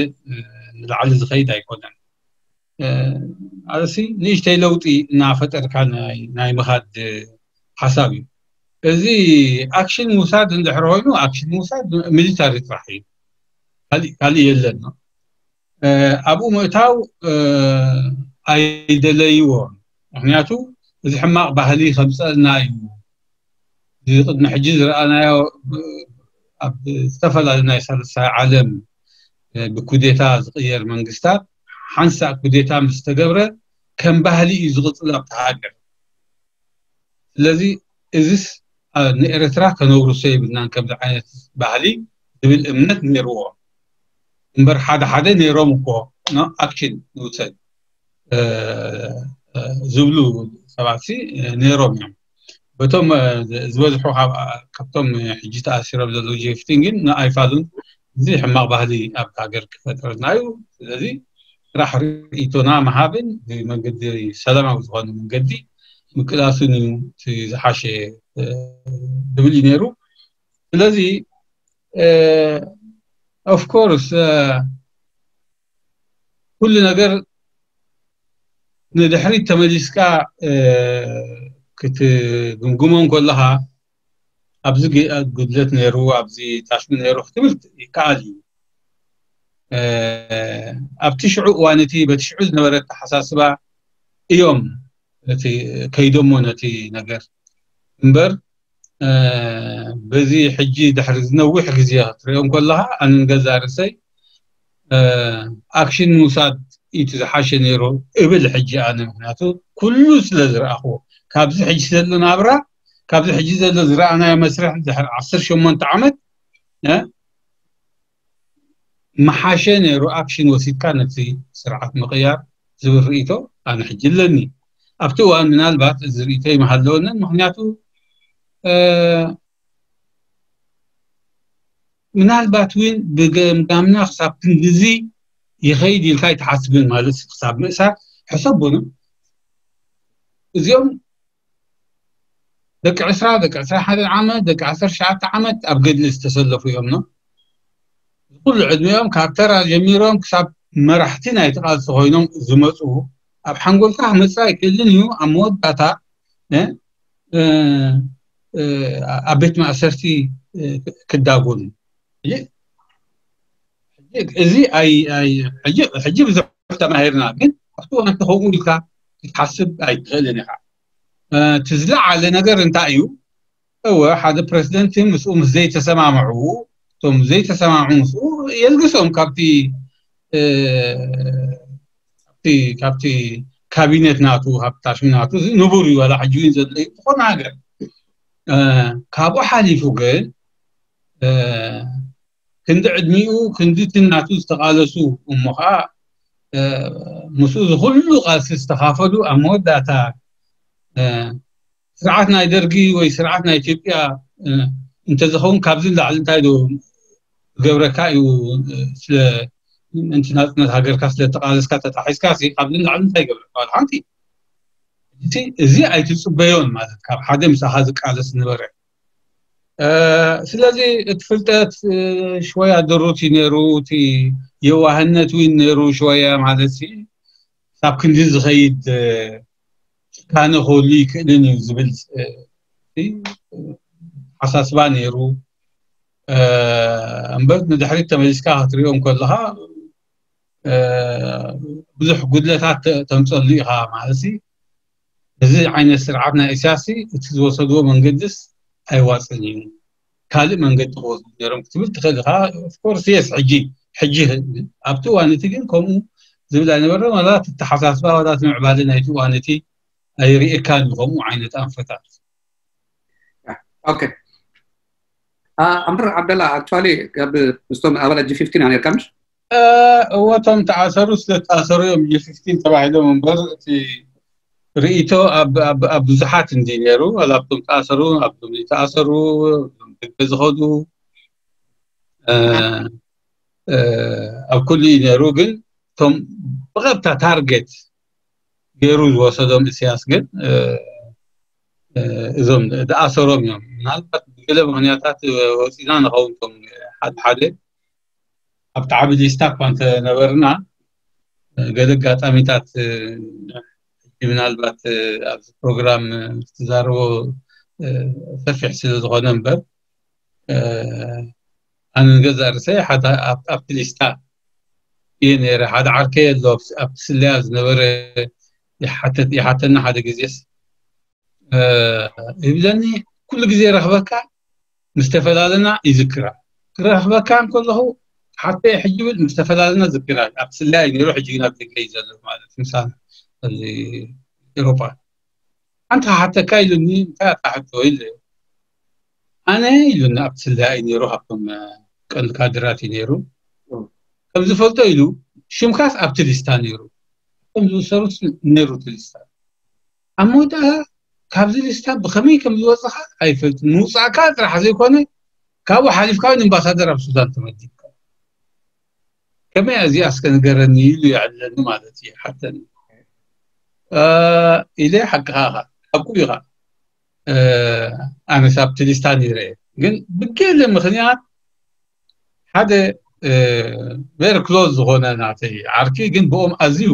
ንላዕሊ ዝኸይድ ኣይኮነን። ኣሲ ንእሽተይ ለውጢ እናፈጠርካ ናይ ምኻድ ሓሳብ እዩ። እዚ ኣክሽን ምውሳድ እንድሕር ኮይኑ ኣክሽን ምውሳድ ሚሊታሪ ጥራሕ እዩ፣ ካልእ የለን። ኣብኡ ምእታው ኣይደለይዎን። ምክንያቱ እዚ ሕማቕ ባህሊ ከምፀልና እዩ። እዚ ቅድሚ ሕጂ ዝረኣናዮ ኣብ ዝተፈላለዩ ናይ ሳልሳይ ዓለም ብኩዴታ ዝቕየር መንግስታት ሓንሳእ ኩዴታ ምስ ተገብረ ከም ባህሊ እዩ ዝቕፅል ኣብቲ ሃገር። ስለዚ እዚስ ንኤርትራ ከነውርሶ የብልናን ከምዚ ዓይነት ባህሊ ዝብል እምነት ነይርዎ እምበር ሓደ ሓደ ነይሮም እኮ ኣክሽን ንውሰድ ዝብሉ ሰባት ነይሮም እዮም። በቶም ዝበዝሑ ካብቶም ሕጂ ተኣሲሮም ዘለዉ ጀፍቲን ግን ንኣይፋሉን እዚ ሕማቕ ባህሊ ኣብ ሃገር ክፈጥረልና እዩ። ስለዚ ስራሕ ርእይቶና ምሃብን ብመንገዲ ሰላማዊ ዝኾነ መንገዲ ምቅላሱን እዩ ዝሓሸ ዝብል እዩ ነይሩ። ስለዚ ኦፍኮርስ ኩሉ ነገር ንድሕሪት ተመሊስካ ክትግምግሞ እንከለኻ ኣብዚ ጉድለት ነይሩ፣ ኣብዚ ታሽሙ ነይሩ ክትብል ይከኣል እዩ። ኣብቲ ሽዑ እዋን እቲ በቲ ሽዑ ዝነበረ ኣተሓሳስባ እዮም እቲ ከይዶሞ ነቲ ነገር እምበር በዚ ሕጂ ድሕሪ ዝነዊሕ ግዜ ክትሪኦ እንከለኻ ኣነ ንገዛ ርእሰይ ኣክሽን ምውሳድ እቲ ዝሓሸ ነይሩ እብል ሕጂ ኣነ። ምክንያቱ ኩሉ ስለ ዝረኣኽዎ ካብዚ ሕጂ ዘሎ ናብራ ካብዚ ሕጂ ዘሎ ዝረኣናዮ መስርሕ ድሕሪ ዓሰርተ ሸሞንተ ዓመት ምሓሸ ነይሩ ኣክሽን ወሲድካ ነቲ ስርዓት ምቕያር ዝብል ርእይቶ ኣነ ሕጂ ኣለኒ። ኣብቲ እዋን ምናልባት እዚ ርእይቶ ይመሃለወንን ምክንያቱ ምናልባት እውን ብገምጋምና ክሳብ ክንድዚ ይኸይድ ኢልካ ኣይትሓስብን ማለት ክሳብ ምእሳር ሕሰቡን እዚኦም ደቂ ዕስራ ደቂ ዕስራ ሓደ ዓመት ደቂ ዓሰርተ ሸዓተ ዓመት ኣብ ገድሊ ዝተሰለፉ እዮም ነው ኩሉ ዕድሚኦም ካብ ተራ ጀሚሮም ክሳብ መራሕቲ ናይ ተቓልሲ ኮይኖም ዝመፁ ኣብ ሓንጎልካ ክመፅእ ኣይክእልን እዩ ኣብ መወዳእታ ኣብ ቤት ማእሰርቲ ክዳጎኑ እዚ ሕጂ ብዙሕ ተማሂርና ግን ኣብቲ ዋንቲ ከምኡ ኢልካ ክትሓስብ ኣይትኽእልን ኢኻ እቲ ዝለዓለ ነገር እንታይ እዩ እወ ሓደ ፕረዚደንት ምስኡ ምስ ዘይተሰማምዑ እቶም ዘይተሰማምዑ ምስኡ የልግሶም ካብቲ ካብቲ ካብቲ ካቢኔት ናቱ ካብቲ ታሽሚ ናቱ እዚ ንቡር እዩ ዋላ ሕጂ እውን ዘሎ እዩ ዝኾነ ሃገር ካብኡ ሓሊፉ ግን ክንዲ ዕድሚኡ ክንዲ እቲ ናቱ ዝተቓለሱ እሞ ከዓ ምስኡ ዝኩሉ ቃልሲ ዝተኻፈሉ ኣብ መወዳእታ ስርዓት ናይ ደርጊ ወይ ስርዓት ናይ ኢትዮጵያ እንተዝኸውን ካብዚ ንላዕሊ እንታይ ዶ ዝገብረካ እዩ ስለ ምእንቲ ናፅነት ሃገርካ ስለ ተቃለስካ ተጣሒስካ ሲ ካብዚ ንላዕሊ እንታይ ይገብረካ ዋላ ሓንቲ እዚ ኣይትፅበዮን ማለት ካብ ሓደ ምሳኻ ዝቃለስ ነበረ ስለዚ እቲ ፍልጠት ሽወያ ድሩት እዩ ነይሩ እቲ የዋህነት እውን ነይሩ ሽወያ ማለት ሳብ ክንዲ ዝኸይድ ጭካነ ክህሉ ይክእልን እዩ ዝብል ሓሳስባ ነይሩ እምበር ንድሕሪት ተመሊስካ ክትሪኦም ከለኻ ብዙሕ ጉድለታት ተምፀሉ ኢኻ ማለት እዚ ዓይነት ስርዓት ናይ እስያስ እቲ ዝወሰድዎ መንገድስ ኣይዋፅን እዩ፣ ካልእ መንገዲ ክወስዱ ነሮም ክትብል ትኽእል ኢኻ። ኦፍኮርስ የስ ሕጂ ሕጂ ኣብቲ እዋን እቲ ግን ከምኡ ዝብል ኣይነበረ። ዋላ ተተሓሳስባ ዋላ ምዕባለ ናይቲ እዋን እቲ ኣይርእየካን እዩ ከምኡ ዓይነት ኣንፈታት። ኦኬ ኣምር ዓብደላ ኣክቹዋሊ ምስቶም ኣባላት ጂ ፊፍቲን ኣነርካ ምሽ እወቶም ተኣሰሩ ስለተኣሰሩ እዮም ጂ ፊፍቲን ተባሂሎም እምበር እቲ ርእይቶ ኣብ ብዙሓት እንዲ ነይሩ። ኣብቶም ተኣሰሩ ኣብቶም ተኣሰሩ ደገ ዝኸዱ ኣብ ኩሉ እዩ ነይሩ። ግን እቶም ብቐጥታ ታርጌት ገይሩ ዝወሰዶም እስያስ ግን እዞም ዝኣሰሮም እዮም። ምናልባት ብገለ ምክንያታት ወፂና ንኸውን ቶም ሓደ ሓደ ኣብቲ ዓቢ ሊስታ እኳ እንተነበርና ገለ ኣጋጣሚታት ምናልባት ኣብዚ ፕሮግራም ትዛረቦ ሰፊሕ ስለ ዝኾነ እምበር ኣነ ንገዛእ ርእሰይ ሓደ ኣብቲ ሊስታ እየ ነይረ። ሓደ ዓርከይ ኣሎ ኣብቲ ስለያ ዝነበረ ይሓተና ሓደ ግዜስ ይብለኒ ኩሉ ግዜ ረኽበካ ምስ ተፈላለና ይዝክራ ክረኽበካ እንከለኹ ሓተይ ሕጂ ብል ምስ ተፈላለና ዝክራ ኣብቲ ስለያ እዩ ነይሩ። ሕጂ ግን ኣብ ደገ እዩ ዘሎ ማለት ምሳና እዚ ኤሮፓ ሓንቲ ክሓተካ ኢሉኒ እንታይ ኣታ ሕቶ ኢለ ኣነ ኢሉኒ ኣብቲ ስለያ እዩ ነይሩ ካብቶም ቀንዲ ካድራት እዩ ነይሩ ከም ዝፈልጦ ኢሉ ሽምካስ ኣብቲ ሊስታ ነይሩ ከም ዝውሰሩስ ነይሩ እቲ ሊስታ ኣብ መወዳእታ ካብዚ ሊስታ ብኸመይ ከም ዝወፅኻ ኣይፈልጥን ምውፃእካ ጥራሕ ዘይኮነ ካብኡ ሓሊፍካ እውን ኣምባሳደር ኣብ ሱዳን ተመዲብካ ከመይ እዚኣ እስከ ንገረኒ ኢሉ ይዕልለኒ ማለት እዩ ሓተኒ ኢለ ሓቅኻ ኢኻ ሓቁ ኢኻ ኣነስ ኣብቲ ሊስታ ነይረ ግን ብገለ ምክንያት ሓደ very close ዝኾነ ናተይ ዓርኪ ግን ብኦም ኣዝዩ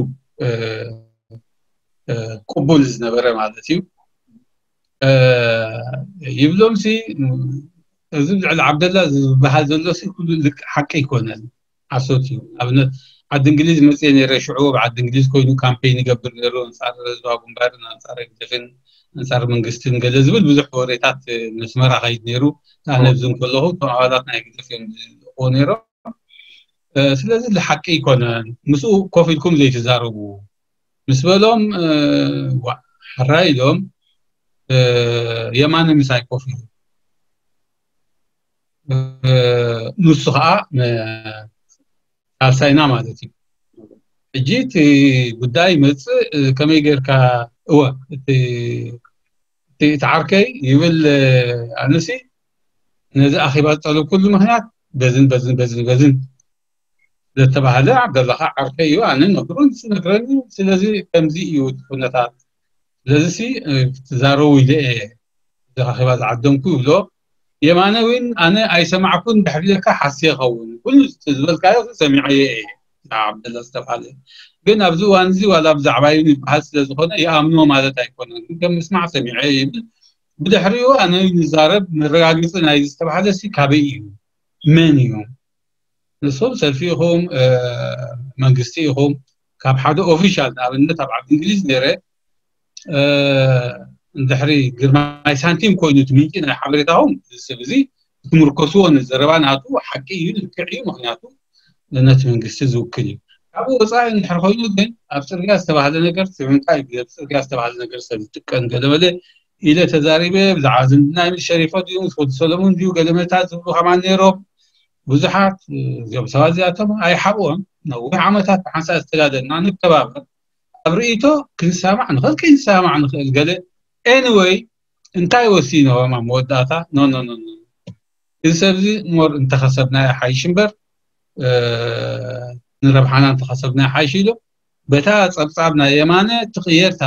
ቅቡል ዝነበረ ማለት እዩ ይብሎም ሲ እዚ ልዕሊ ዓብደላ ዝበሃል ዘሎ ኩሉ ሓቂ ኣይኮነን ሓሶት እዩ ኣብነት ዓዲ እንግሊዝ መፅየ ነረ ሽዑ ኣብ ዓዲ እንግሊዝ ኮይኑ ካምፔይን ይገብር ነሩ ኣንፃር ህዝባ ግንባርን ኣንፃር ህግደፍን ኣንፃር መንግስትን ገለ ዝብል ብዙሕ ወሬታት ነስመራ ከይድ ነሩ ኣነ ኣብዚ ከለኹ እቶም ኣባላት ናይ ህግደፍ እዮም ዝልእክዎ ነሮም ስለዚ ዝሓቂ ኣይኮነን ምስኡ ኮፍ ኢልኩም ዘይትዛረቡ ምስ በሎም ሕራይ ኢሎም የማነ ምሳይ ኮፍ ኢሉ ንሱ ከዓ ሳልሳይና ማለት እዩ ሕጂ እቲ ጉዳይ ይመፅእ ከመይ ጌርካ እወ እቲ ዓርከይ ይብል ኣነሲ ነዚ ኣኼባ ዝጠለብኩሉ ምክንያት በዝን በዝን በዝን በዝን ዘተባህለ ዓብደላ ከዓ ዓርከይ እዩ ኣነ ነግሮ ንሱ ነግረኒ ስለዚ ከምዚ እዩ እቲ ኩነታት ስለዚ ሲ ክትዛረቡ ኢለ እየ እዚ ኣኼባ ዝዓደምኩ ይብሎ የማነ እውን ኣነ ኣይሰማዕኩን ድሕሪ ኢለካ ሓስየ ይኸውን ኩሉ ዝበልካዮ ሰሚዐዮ እየ ዓብደላ ዝተባሃለ ግን ኣብዚ እዋን እዚ ዋላ ብዛዕባ እዩ ይበሃል ስለ ዝኾነ ይኣምኖ ማለት ኣይኮነን ግን ከም ምስማዕ ሰሚዐ ይብል ብድሕሪኡ ኣነ ንዛረብ መረጋገፂ ናይ ዝተባሃለ ሲ ካበይ እዩ መን እዩ ንሶም ሰልፊ ኢኹም መንግስቲ ኢኹም ካብ ሓደ ኦፊሻል ንኣብነት ኣብ ዓዲ እንግሊዝ ነይረ እንድሕሪ ግርማይ ሳንቲም ኮይኑ እቲ ምንጪ ናይ ሓበሬታኹም እዚ ሰብ እዚ ክትምርኮስዎ ንዘረባ ናቱ ሓቂ እዩ ልክዕ እዩ ምክንያቱ ነቲ መንግስቲ ዝውክል እዩ ካብኡ ወፃኢ እንድሕር ኮይኑ ግን ኣብ ፅርግያ ዝተባህለ ነገር ስምንታ እዩ ኣብ ፅርግያ ዝተባህለ ነገር ሰብ ዝጥቀን ገለመለ ኢለ ተዛሪበ ብዛዕባ ዝምድና ይብል ሸሪፎ ድዩ ምስ ወዲ ሰለሙን ድዩ ገለመለታት ዝብሉ ከማን ነይሮም ብዙሓት እዚኦም ሰባት እዚኣቶም ኣይሓብኦም ነዊሕ ዓመታት ብሓንሳእ ዝተጋደልና ንከባበር ኣብ ርእይቶ ክንሰማዕ ንኽእል ከይንሰማዕ ንኽእል ገለ anyway እንታይ ወሲኖም ኣብ መወዳእታ no no no no እዚ ሰብዚ more እንተኸሰብናዮ ሓይሽ እምበር ንረብሓና እንተኸሰብናዮ ሓይሽ ኢሉ በታ ፀብፃብ ናይ የማነ ትቕየር እታ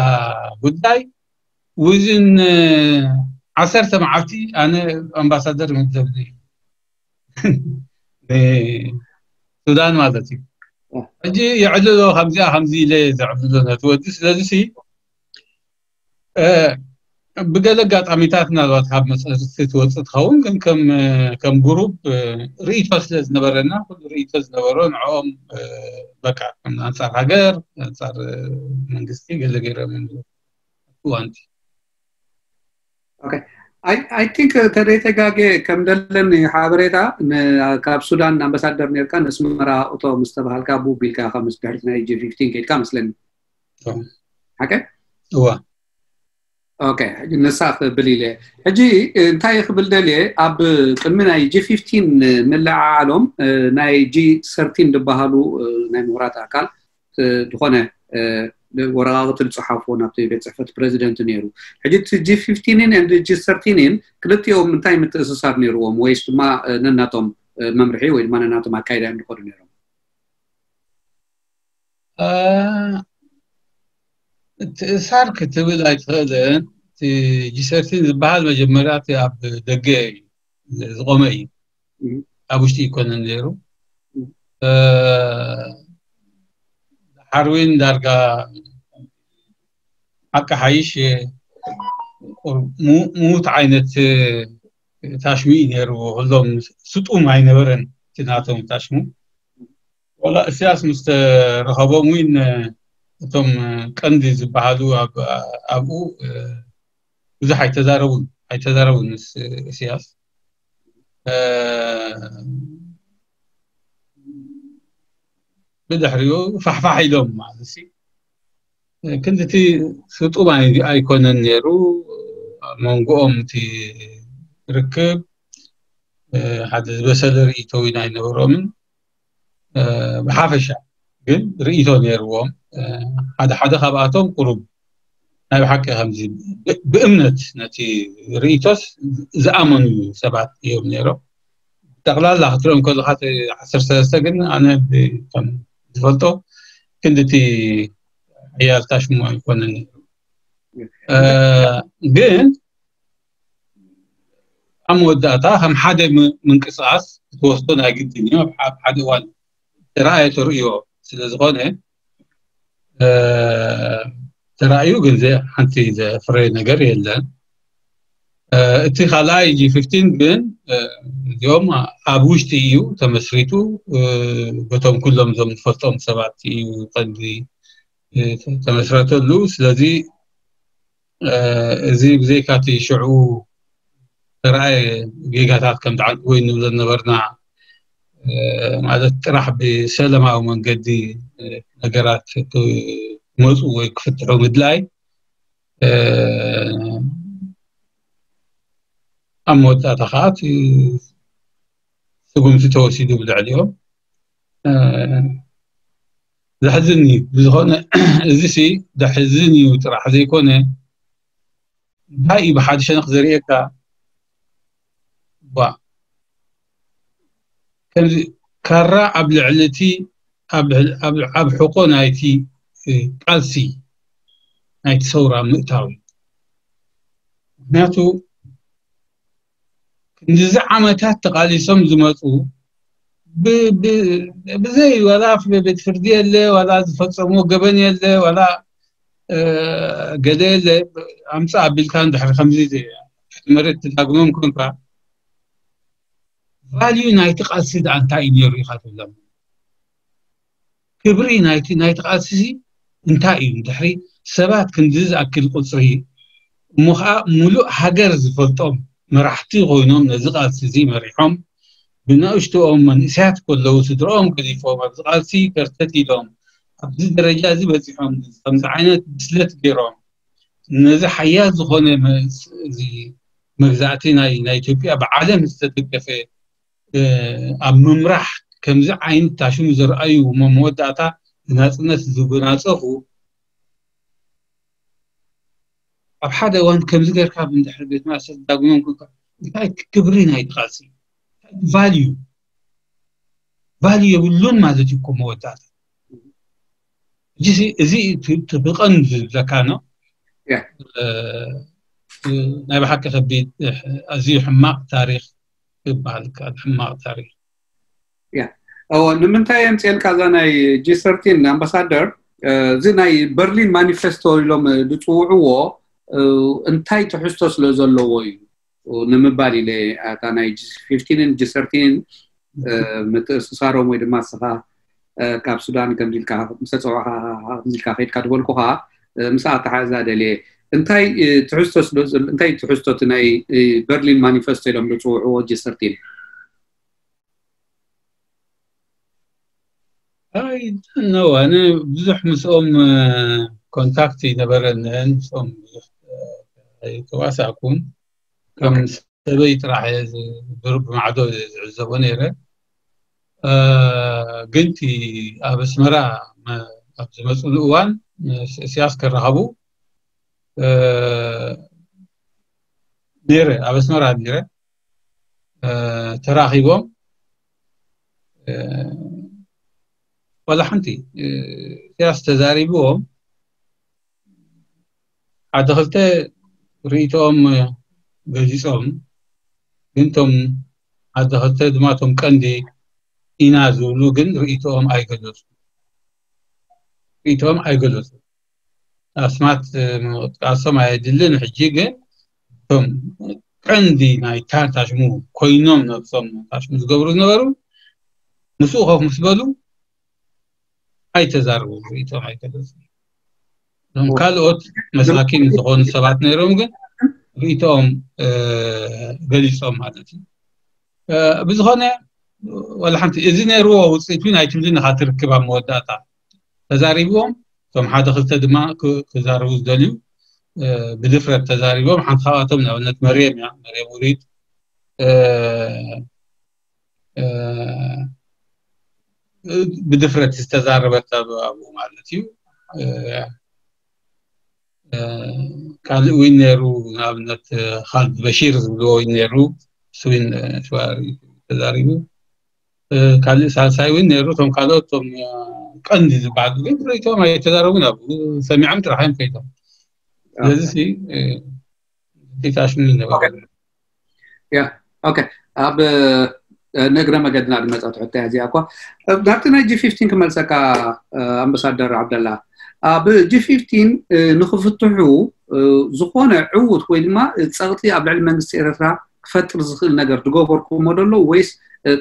ጉዳይ within ዓሰርተ መዓልቲ ኣነ ኣምባሳደር ይምደብኒ ሱዳን ማለት እዩ ሕጂ የዕልሎ ከምዚኣ ከምዚ ኢለ ዘዕልሎ ነቲ ወዲ ስለዚ ሲ ብገለ ኣጋጣሚታት ምናልባት ካብ መፅርቲ ትወፅእ ትኸውን፣ ግን ከም ከም ግሩፕ ርእይቶ ስለ ዝነበረና፣ ኩሉ ርእይቶ ዝነበሮ ንዕኦም፣ በቃ፣ ኣንፃር ሃገር፣ ኣንፃር መንግስቲ ገለ ገይሮም እዮም። እዋንቲ I think ተደይተጋጌ ከም ደለኒ ሓበሬታ፣ ካብ ሱዳን ኣምባሳደር ነርካ፣ ነስመራ እቶ ምስ ተባሃልካ፣ ቡብ ኢልካ ምስ ድሕሪት ናይ ጂ ፊፍቲን ከይድካ መስለኒ። ሓቀ? እዋ። ኦኬ፣ ሕጂ ንሳ ክብል ኢለ። ሕጂ እንታይ ክብል ደልየ፣ ኣብ ቅድሚ ናይ ጂ ፊፍቲን ምልዓዓሎም፣ ናይ ጂ ሰርቲን ዝበሃሉ ናይ ምሁራት ኣካል ዝኾነ ወረቓቕቲ ዝፀሓፍዎ ናብቲ ቤት ፅሕፈት ፕሬዚደንት ነይሩ። ሕጂ እቲ ጂ ፊፍቲንን ጂ ሰርቲንን ክልቲኦም እንታይ ምትእስሳር ነይርዎም፣ ወይስ ድማ ነናቶም መምርሒ ወይ ድማ ነናቶም ኣካይዳ እዮም ዝኸዱ ነይሮም? ምትእሳር ክትብል ኣይትኽእልን። እቲ ጂ ሰርቲን ዝበሃል መጀመርያ እቲ ኣብ ደገ እዩ ዝቆመ እዩ፣ ኣብ ውሽጢ ይኮነን ነይሩ። ሓርዊን ዳርጋ ሓቂ ሓይሽ ምዉት ዓይነት ታሽሙ እዩ ነይሩ። ኩሎም ስጡም ኣይነበረን እቲ ናቶም ታሽሙ። ዋላ እስያስ ምስ ተረኸቦም እውን እቶም ቀንዲ ዝበሃሉ ኣብኡ ብዙሕ ኣይተዛረቡን ኣይተዛረቡን ምስ እስያስ። ብድሕሪኡ ፋሕፋሕ ኢሎም ማለት ሲ ክንድቲ ስጡም ኣይኮነን ነይሩ። ኣብ መንጎኦም እቲ ርክብ ሓደ ዝበሰለ ርእይቶ እውን ኣይነበሮምን። ብሓፈሻ ግን ርእይቶ ነይርዎም። ሓደ ሓደ ካብኣቶም ቁሩብ ናይ ብሓቂ ከምዚ ብእምነት ነቲ ርእይቶስ ዝኣመኑ ሰባት እዮም ነይሮም። ጠቕላላ ክትሪኦም ከለካ ዓሰርተ ሰለስተ ግን ኣነ ከም ዝፈልጦ ክንድቲ ሓያል ታሽሙ ኣይኮነን ነይሩ። ግን ኣብ መወዳእታ ከም ሓደ ምንቅስቃስ ክትወስዶ ናይ ግድን እዩ። ኣብ ሓደ እዋን ተረኣየ ተርእዮ ስለ ዝኾነ ተራእዩ ግን ሓንቲ ዘፍረ ነገር የለን። እቲ ካልኣይ ጂ ፊፍቲን ግን እዚኦም ኣብ ውሽጢ እዩ ተመስሪቱ። በቶም ኩሎም እዞም ዝፈልጦም ሰባት እዩ ቀንዲ ተመስረተሉ። ስለዚ እዚ ብዘይካ እቲ ሽዑ ተራእየ ጌጋታት ከም ትዓንቂ ወይ ንብሎ ነበርና፣ ማለት ጥራሕ ብሰለማዊ መንገዲ ነገራት ክመፁ ወይ ክፍትሑ ምድላይ ኣብ መወዳእታ ከዓ እቲ ስጉምቲ ተወሲዱ ብልዕሊኦም። ዘሕዝን እዩ። ብዝኾነ እዚ ሲ ዘሕዝን እዩ ጥራሕ ዘይኮነ እንታይ እዩ ብሓደ ሸነኽ ዘርእየካ ባ ከምዚ ካራ ኣብ ልዕሊ እቲ ኣብ ሕቆ ናይቲ ቃልሲ ናይቲ ሰውራ ምእታው እዩ። ምክንያቱ ክንዲዚ ዓመታት ተቃሊሶም ዝመፁ ብዘይ ዋላ ቤት ፍርዲ የለ ዋላ ዝፈፀምዎ ገበን የለ ዋላ ገለ የለ ኣምፃ ኣቢልካ እንድሕር ከምዚ ትሕቲ መሬት ትዳግሞም ኮንካ ቫልዩ ናይቲ ቃልሲ ደኣ እንታይ እዩ ነይሩ ኢኻ ትብሎም? ክብሪ ናይቲ ናይቲ ቃልሲ እንታይ እዩ? እንድሕሪ ሰባት ክንዲ ዝኣክል ቁፅሪ እሞ ከዓ ሙሉእ ሃገር ዝፈልጦም መራሕቲ ኮይኖም ነዚ ቃልሲ እዚ መሪሖም ብንእሽቶኦም መንእሰያት ከለዉ ስድረኦም ገዲፎም ኣብዚ ቃልሲ ከርተት ኢሎም ኣብዚ ደረጃ እዚ በፂሖም ከምዚ ዓይነት ብስለት ገይሮም ነዚ ሓያል ዝኾነ እዚ መግዛእቲ ናይ ናይ ኢትዮጵያ ብዓለም ዝተደገፈ ኣብ ምምራሕ ከምዚ ዓይነት ታሽሙ ዝረኣዩ እሞ መወዳእታ ናፅነት ዝጎናፀፉ ኣብ ሓደ እዋን ከምዚ ገርካ እንድሕር ቤት ማእሰርቲ ዳግሞም እንታይ ክብሪ ናይ ቃልሲ ቫልዩ ቫልዩ የብሉን ማለት እዩ እኮ መወዳእታ። እዚ ብቐንዱ ዝብለካ ነው። ናይ ብሓቂ ከቢድ ኣዝዩ ሕማቕ ታሪክ ይበሃል ይከኣል። ሕማቕ ታሪክ። እዎ ንምንታይ የምፅኤልካ እዛ ናይ ጂ ሰርቲን ኣምባሳደር? እዚ ናይ በርሊን ማኒፌስቶ ኢሎም ዝፅውዕዎ እንታይ ትሕዝቶ ስለ ዘለዎ እዩ ንምባል ኢለ፣ ኣታ ናይ ጂ ፊፍቲንን ጂ ሰርቲንን ምትእስሳሮም ወይ ድማ ንስኻ ካብ ሱዳን ከምዚ ኢልካ ምስ ተፀዋዕካ፣ ከምዚ ኢልካ ከይድካ ዝበልኩኻ፣ ምስ ኣተሓዛ ደልየ እንታይ ትሕዝቶ ስለ ዘሎ፣ እንታይ ትሕዝቶ እቲ ናይ በርሊን ማኒፈስቶ ኢሎም ዝፅውዕዎ ጂ ሰርቲን? ኣይ፣ no፣ ኣነ ብዙሕ ምስኦም ኮንታክት ይነበረንን ምስኦም ብዙሕ ኣይተዋሳእኩን። ከም ሰበይ ጥራሕ እየ ዝ- ብማዕዶ ዝዕዘቦ ነይረ። እ፣ ግን እቲ ኣብ ኣስመራ መ- ኣብ ዝመፅሉ እዋን ምስ እስያስ ክራኸቡ እ፣ ነይረ፣ ኣብ ኣስመራ ነይረ። እ፣ ተራኺቦም እ፣ ዋላ ሓንቲ እ፣ እስያስ ተዛሪብዎም ሓደ ክልተ ርእይቶኦም ገሊፆም፣ ግን እቶም ሓደ ክልተ ድማ እቶም ቀንዲ ኢና ዝብሉ ግን ርእይቶኦም ኣይገለፁ ርእይቶኦም ኣይገለፁ። ኣስማት ምጥቃሶም ኣየድልን። ሕጂ ግን እቶም ቀንዲ ናይ ታሽሙ ኮይኖም ነብሶም ታሽሙ ዝገብሩ ዝነበሩ ምስኡ ኮፍ ምስ በሉ ኣይተዛርቡ ርእይቶም ኣይገለፁ። እዞም ካልኦት መሳኪን ዝኾኑ ሰባት ነይሮም ግን ርእይቶም ገሊፆም ማለት እዩ። ብዝኾነ ዋላ ሓንቲ እዚ ነይርዎ ውፅኢት እውን ኣይትብልን ኢኻ ትርክብ ኣብ መወዳእታ ተዛሪብዎም እቶም ሓደ ክልተ ድማ ክዛረቡ ዝደልዩ ብድፍረት ተዛሪቦም። ሓንቲ ካብኣቶም ንኣብነት መርየም እያ፣ መርየም ውሪድ ብድፍረት ዝተዛረበት ኣብኡ ማለት እዩ። ካልእ እውን ነይሩ፣ ንኣብነት ካልድ በሺር ዝብልዎ እውን ነይሩ፣ እሱ እውን ተዛሪቡ። ካልእ ሳልሳይ እውን ነይሩ። እቶም ካልኦት እቶም ቀንዲ ዝበሃሉ ግን ርእይቶም ኣይተዛረቡን፣ ኣብኡ ሰሚዖም ጥራሕ እዮም ከይዶም። ስለዚ ሲ ፊታሽኑ ይነበረ። ያ ኦኬ። ኣብ ንእግረ መገድና ዝመፀት ሕቶ እያ እዚኣ እኳ። ናብቲ ናይ ጂ ፊፍቲን ክመልሰካ ኣምባሳደር ዓብደላ፣ ኣብ ጂ ፊፍቲን ንክፍትሑ ዝኾነ ዕውት ወይ ድማ ፀቕጢ ኣብ ልዕሊ መንግስቲ ኤርትራ ክፈጥር ዝኽእል ነገር ዝገበርኩሞ ደሎ ወይስ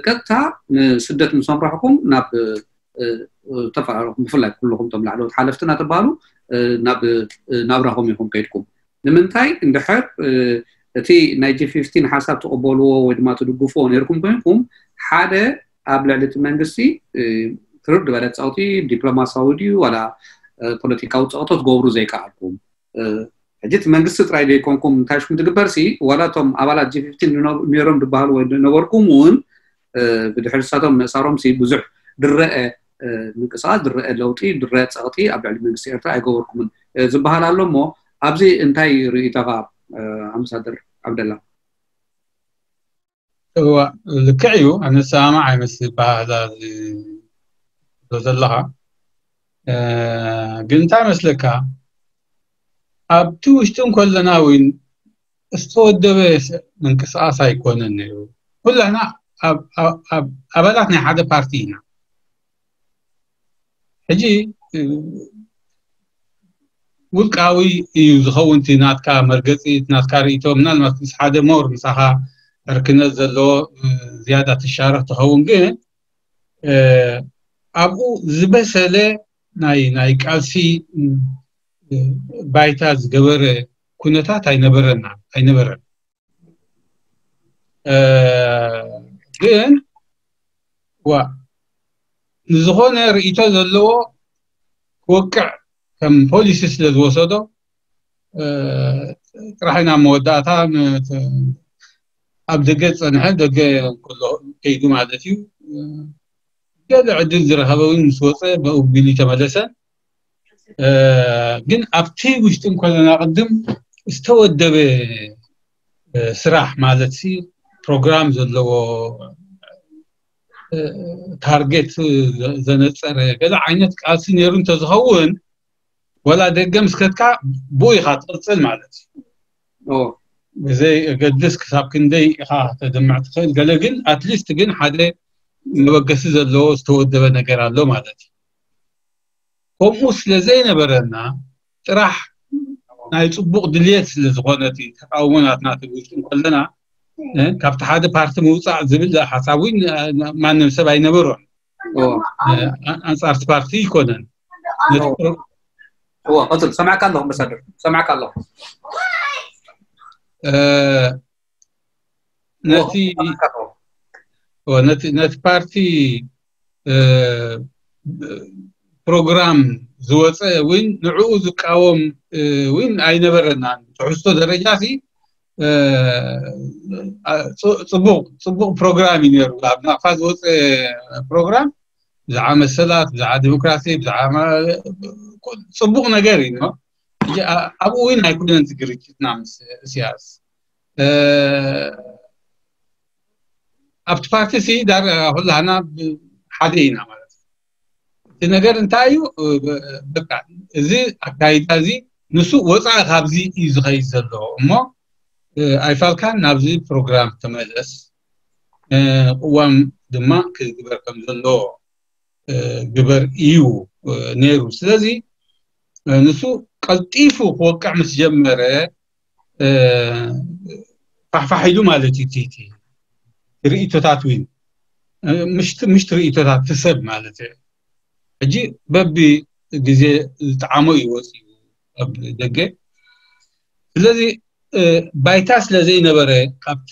ቀጥታ ንስደት ምስ ኣምራሕኩም ናብ ተፋራረኹም? ብፍላይ ኩልኹም እቶም ላዕለዎት ሓለፍትና ተባሃሉ ናብ ናብራኹም ኢኹም ከይድኩም። ንምንታይ እንድሕር እቲ ናይ ጂ ፊፍቲን ሓሳብ ትቕበልዎ ወይ ድማ ትድግፍዎ ነይርኩም ኮይንኩም ሓደ ኣብ ልዕሊ እቲ መንግስቲ ትርር ዝበለ ፀቕጢ ዲፕሎማሲያዊ ድዩ ዋላ ፖለቲካዊ ፀቕጦ ትገብሩ ዘይከኣልኩም? ሕጂ እቲ መንግስቲ ጥራይ ዘይኮንኩም እንታይ ሽኩም ትግበር ሲ ዋላ እቶም ኣባላት ጂ ፊፍቲን ነይሮም ዝበሃሉ ወይ ነበርኩም እውን ብድሕሪ ንሳቶም ምእሳሮም ሲ ብዙሕ ድረአ ምንቅስቃስ፣ ድረአ ለውጢ፣ ድረአ ፀቕጢ ኣብ ልዕሊ መንግስቲ ኤርትራ ኣይገበርኩምን ዝበሃል ኣሎ እሞ ኣብዚ እንታይ ርእይቶኻ ኣምባሳደር ዓብደላ? እዋ ልክዕ እዩ። ኣነ ሰማማዕ ኣይመስል ባህላ ዶ ዘለኻ ግን እንታይ መስለካ ኣብቲ ውሽጢ እንከለና እውን ዝተወደበ ምንቅስቃስ ኣይኮነን ነይሩ። ኩላና ኣባላት ናይ ሓደ ፓርቲ ኢና። ሕጂ ውልቃዊ እዩ ዝኸውን እቲ ናትካ መርገፂ፣ ናትካ ርእይቶ። ምናልባት ምስ ሓደ ሞር ምሳኻ ዕርክነት ዘለዎ ዝያዳ ትሻረኽ ትኸውን፣ ግን ኣብኡ ዝበሰለ ናይ ናይ ቃልሲ ባይታ ዝገበረ ኩነታት ኣይነበረና ኣይነበረን። ግን ዋ ንዝኾነ ርእይቶ ዘለዎ ክወቅዕ ከም ፖሊሲ ስለ ዝወሰዶ ጥራሕ ኢና መወዳእታ ኣብ ደገ ዝፀንሐ ደገ ከሎ ከይዱ ማለት እዩ። ገለ ዕድል ዝረኸበ እውን ምስ ወፀ ብኡ ቢሉ ተመለሰ። ግን ኣብቲ ውሽጢ እንኮለና ቅድም ዝተወደበ ስራሕ ማለት ሲ ፕሮግራም ዘለዎ ታርጌት ዘነፀረ ገለ ዓይነት ቃልሲ ነይሩ እንተዝኸውን ወላ ደገ ምስ ከድካ ብኡ ኢኻ ትቕፅል ማለት እዩ። ብዘይ ገድስ ክሳብ ክንደይ ኢኻ ተድምዕ ትኽእል ገለ ግን ኣትሊስት ግን ሓደ መበገሲ ዘለዎ ዝተወደበ ነገር ኣሎ ማለት እዩ። ከምኡ ስለ ዘይነበረና ጥራሕ ናይ ጽቡቕ ድልየት ስለ ዝኾነ እቲ ተቃውሞ ናትና ትብል ውሽጢ እንከለና፣ እ፣ ካብቲ ሓደ ፓርቲ ምውጻእ ዝብል ሓሳብ እውን፣ እ፣ ማንም ሰብ ኣይነበሮን። እ፣ ኣንጻርቲ ፓርቲ ይኮነን። ነቲ ፕሮ- ቀፅል፣ ሰማዕካ ኣለኹ ኣምባሳደር፣ ሰማዕካ ኣለኹ። እ፣ ነቲ ነቲ ፓርቲ ፕሮግራም ዝወፀ እውን ንዕኡ ዝቃወም እውን ኣይነበረናን። ትሕዝቶ ደረጃ ሲ ፅቡቅ ፅቡቅ ፕሮግራም እዩ ነይሩ። ኣብ ናቕፋ ዝወፀ ፕሮግራም ብዛዕባ መሰላት፣ ብዛዕባ ዲሞክራሲ፣ ብዛዕባ ፅቡቅ ነገር እዩ። ኣብኡ እውን ኣይኮነን ግርጭትና ምስ እስያስ። ኣብቲ ፓርቲ ሲ ዳር ኩላህና ሓደ ኢና ማለት እዩ። እቲ ነገር እንታይ እዩ? በቃ እዚ ኣካይዳ እዚ ንሱ ወፃኢ ካብዚ እዩ ዝኸይድ ዘሎ እሞ ኣይፋልካን ናብዚ ፕሮግራም ተመለስ፣ ቅዋም ድማ ክግበር ከም ዘለዎ ግበር እዩ ነይሩ። ስለዚ ንሱ ቀልጢፉ ክወቅዕ ምስ ጀመረ ፋሕፋሕ ኢሉ ማለት እዩ። እቲ ርእይቶታት እውን ምሽት ርእይቶታት ትሰብ ማለት እዩ። ሕጂ በቢ ግዜ ዝጠዓሞ እዩ ወፂኡ ኣብ ደገ። ስለዚ ባይታ ስለ ዘይነበረ ካብቲ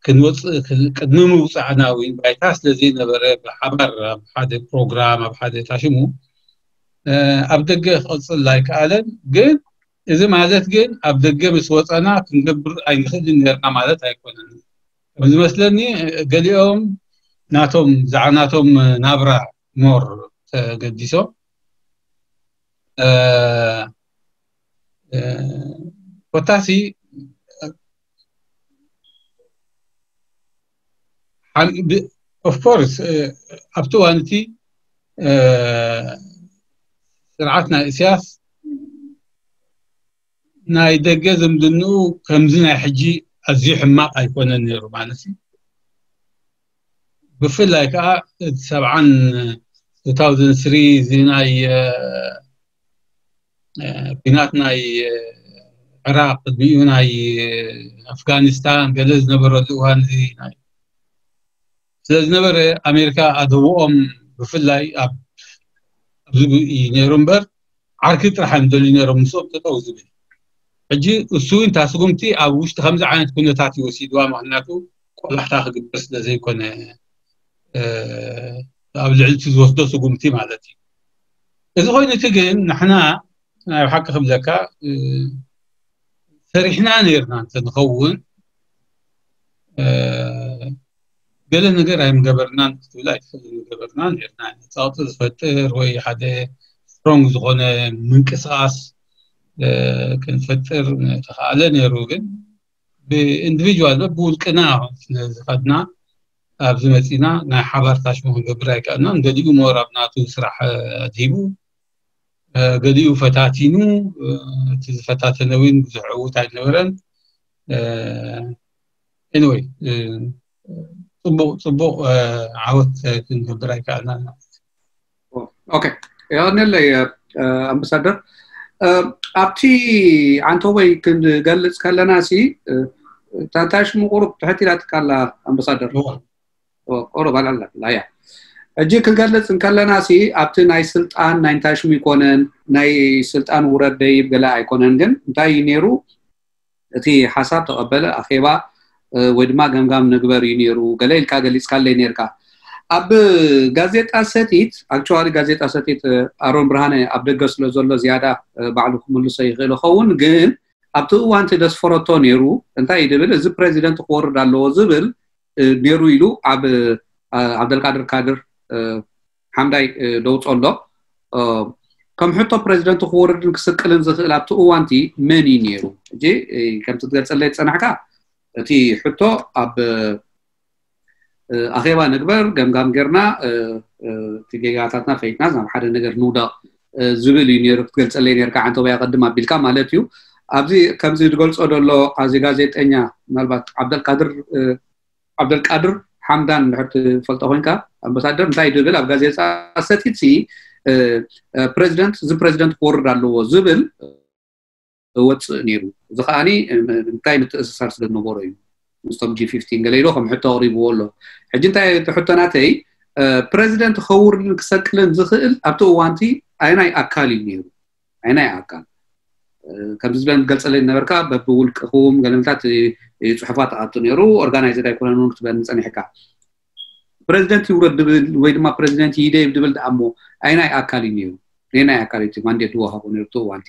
ክንወፅእ ቅድሚ ምውፃዕና እውን ባይታ ስለ ዘይነበረ ብሓባር ኣብ ሓደ ፕሮግራም ኣብ ሓደ ታሽሙ ኣብ ደገ ክቐፅል ኣይከኣለን። ግን እዚ ማለት ግን ኣብ ደገ ምስ ወፀና ክንገብር ኣይንኽእልን ነርና ማለት ኣይኮነን። ከም ዝመስለኒ ገሊኦም ናቶም ብዛዕባ ናቶም ናብራ ሞር ተገዲሶም ኮታሲ ኦፍኮርስ ኣብቲ እዋን እቲ ስርዓት ናይ እስያስ ናይ ደገ ዝምድንኡ ከምዚ ናይ ሕጂ ኣዝዩ ሕማቕ ኣይኮነን ነይሩ ማለት እዩ። ብፍላይ ከዓ እቲ ሰብዓን two thousand three እዚ ናይ ኩናት ናይ ዕራቅ ቅድሚኡ ናይ ኣፍጋኒስታን ገለ ዝነበረሉ እዋን እዚ ናይ ስለ ዝነበረ ኣሜሪካ ኣደብኦም ብፍላይ ኣብ ኣብዚ እዩ ነይሩ እምበር ዓርኪ ጥራሕ እዮም ደልዩ ነይሮም ምስኦም ጠጠው ዝብል። ሕጂ እሱ እውን እታ ስጉምቲ ኣብ ውሽጢ ከምዚ ዓይነት ኩነታት እዩ ወሲድዋ። ምክንያቱ ቆላሕታ ክግበር ስለ ዘይኮነ ኣብ ልዕሊ እቲ ዝወስዶ ስጉምቲ ማለት እዩ። እዚ ኮይኑ እቲ ግን ንሕና ናይ ሓቂ ክብለካ ሰሪሕና ነርና እንተንኸውን ገለ ነገር ኣይምገበርናን ክትብል ኣይትኽእል። ምገበርና ነርና። ፀቕጢ ዝፈጥር ወይ ሓደ ስትሮንግ ዝኾነ ምንቅስቃስ ክንፈጥር ተኸኣለ ነይሩ። ግን ብኢንዲቪጁዋል ብውልቅና ስለዝኸድና ኣብዚ መፂና ናይ ሓባር ታሽሙ ክንገብር ኣይከኣልናን። ገሊኡ ሞር ኣብ ናቱ ስራሕ ኣድሂቡ፣ ገሊኡ ፈታቲኑ፣ እቲ ዝፈታተነ እውን ብዙሕ ዕዉት ኣይነበረን። ኤኒወይ ፅቡቅ ፅቡቅ ዓወት ክንገብር ኣይከኣልናን። ኦኬ፣ የቐንየለይ ኣምባሳደር። ኣብቲ ዓንተወይ ክንገልፅ ከለና ሲ ታንታሽ ምቁሩብ ትሕት ኢላትካ ኣላ ኣምባሳደር። ቁሩብ ኣልዓላ ያ ሕጂ ክገልፅ እንከለና ሲ ኣብቲ ናይ ስልጣን ናይ እንታይ ሽሙ ይኮነን ናይ ስልጣን ውረድ ደይብ ገለ ኣይኮነን። ግን እንታይ እዩ ነይሩ እቲ ሓሳብ ተቐበለ ኣኼባ ወይ ድማ ገምጋም ንግበር እዩ ነይሩ ገለ ኢልካ ገሊፅካለይ ነይርካ። ኣብ ጋዜጣ ሰቲት ኣክቸዋሊ ጋዜጣ ሰቲት ኣሮን ብርሃነ ኣብ ደገ ስለ ዘሎ ዝያዳ ባዕሉ ክምልሶ ይኽእል ይኸውን። ግን ኣብቲ እዋንቲ ደስፈረቶ ነይሩ እንታይ እዩ ድብል እዚ ፕሬዚደንት ክወርድ ኣለዎ ዝብል ነይሩ ኢሉ ኣብ ዓብደልቃድር ካድር ሓምዳይ ደውፆ ኣሎ። ከም ሕቶ ፕሬዚደንት ክወርድን ክስቅልን ዝኽእል ኣብቲ እዋንቲ መን እዩ ነይሩ? ሕጂ ከምቲ ትገልፀለይ ዝፀናሕካ እቲ ሕቶ ኣብ ኣኼባ ንግበር ገምጋም ጌርና እቲ ጌጋታትና ፈይትና ናብ ሓደ ነገር ንውደቕ ዝብል እዩ ነይሩ ክትገልፀለይ ነርካ። ዓንተወይ ኣቐድም ኣቢልካ ማለት እዩ። ኣብዚ ከምዚ ዝገልፆ ዘሎ ኣዚ ጋዜጠኛ ምናልባት ዓብደልቃድር ዓብደልቃድር ሓምዳን እንድሕር ትፈልጦ ኮይንካ ኣምባሳደር እንታይ ድብል ኣብ ጋዜጣ ሰቲት ሲ ፕሬዚደንት እዚ ፕሬዚደንት ክወርድ ኣለዎ ዝብል ወፅእ ነይሩ። እዚ ከዓኒ እንታይ ምትእስሳር ስለ ዝነበሮ እዩ ምስቶም ጂ ፊፍቲን ገለ ኢሎ ከም ሕቶ ኣቕሪብዎ ኣሎ። ሕጂ እንታይ እቲ ሕቶ ናተይ ፕሬዚደንት ክኸውን ክሰቅልን ዝኽእል ኣብቲ እዋንቲ ኣይናይ ኣካል እዩ ነይሩ? ኣይናይ ኣካል ከምዚ ዝበለ ገልፀለይ ነበርካ በብውልቅኹም ገለምታት እዩ ፅሑፋት ኣቱ ነይሩ። ኦርጋናይዝድ ኣይኮነን እውን ክትበኒ ፀኒሕካ። ፕሬዚደንት ይውረድ ድብል ወይ ድማ ፕሬዚደንት ይደይብ ድብል ደኣ እሞ ኣይናይ ኣካል እዩ ነይሩ? ነናይ ኣካል እቲ ማንዴት ዝወሃቦ ነይሩ እቲ እዋንቲ?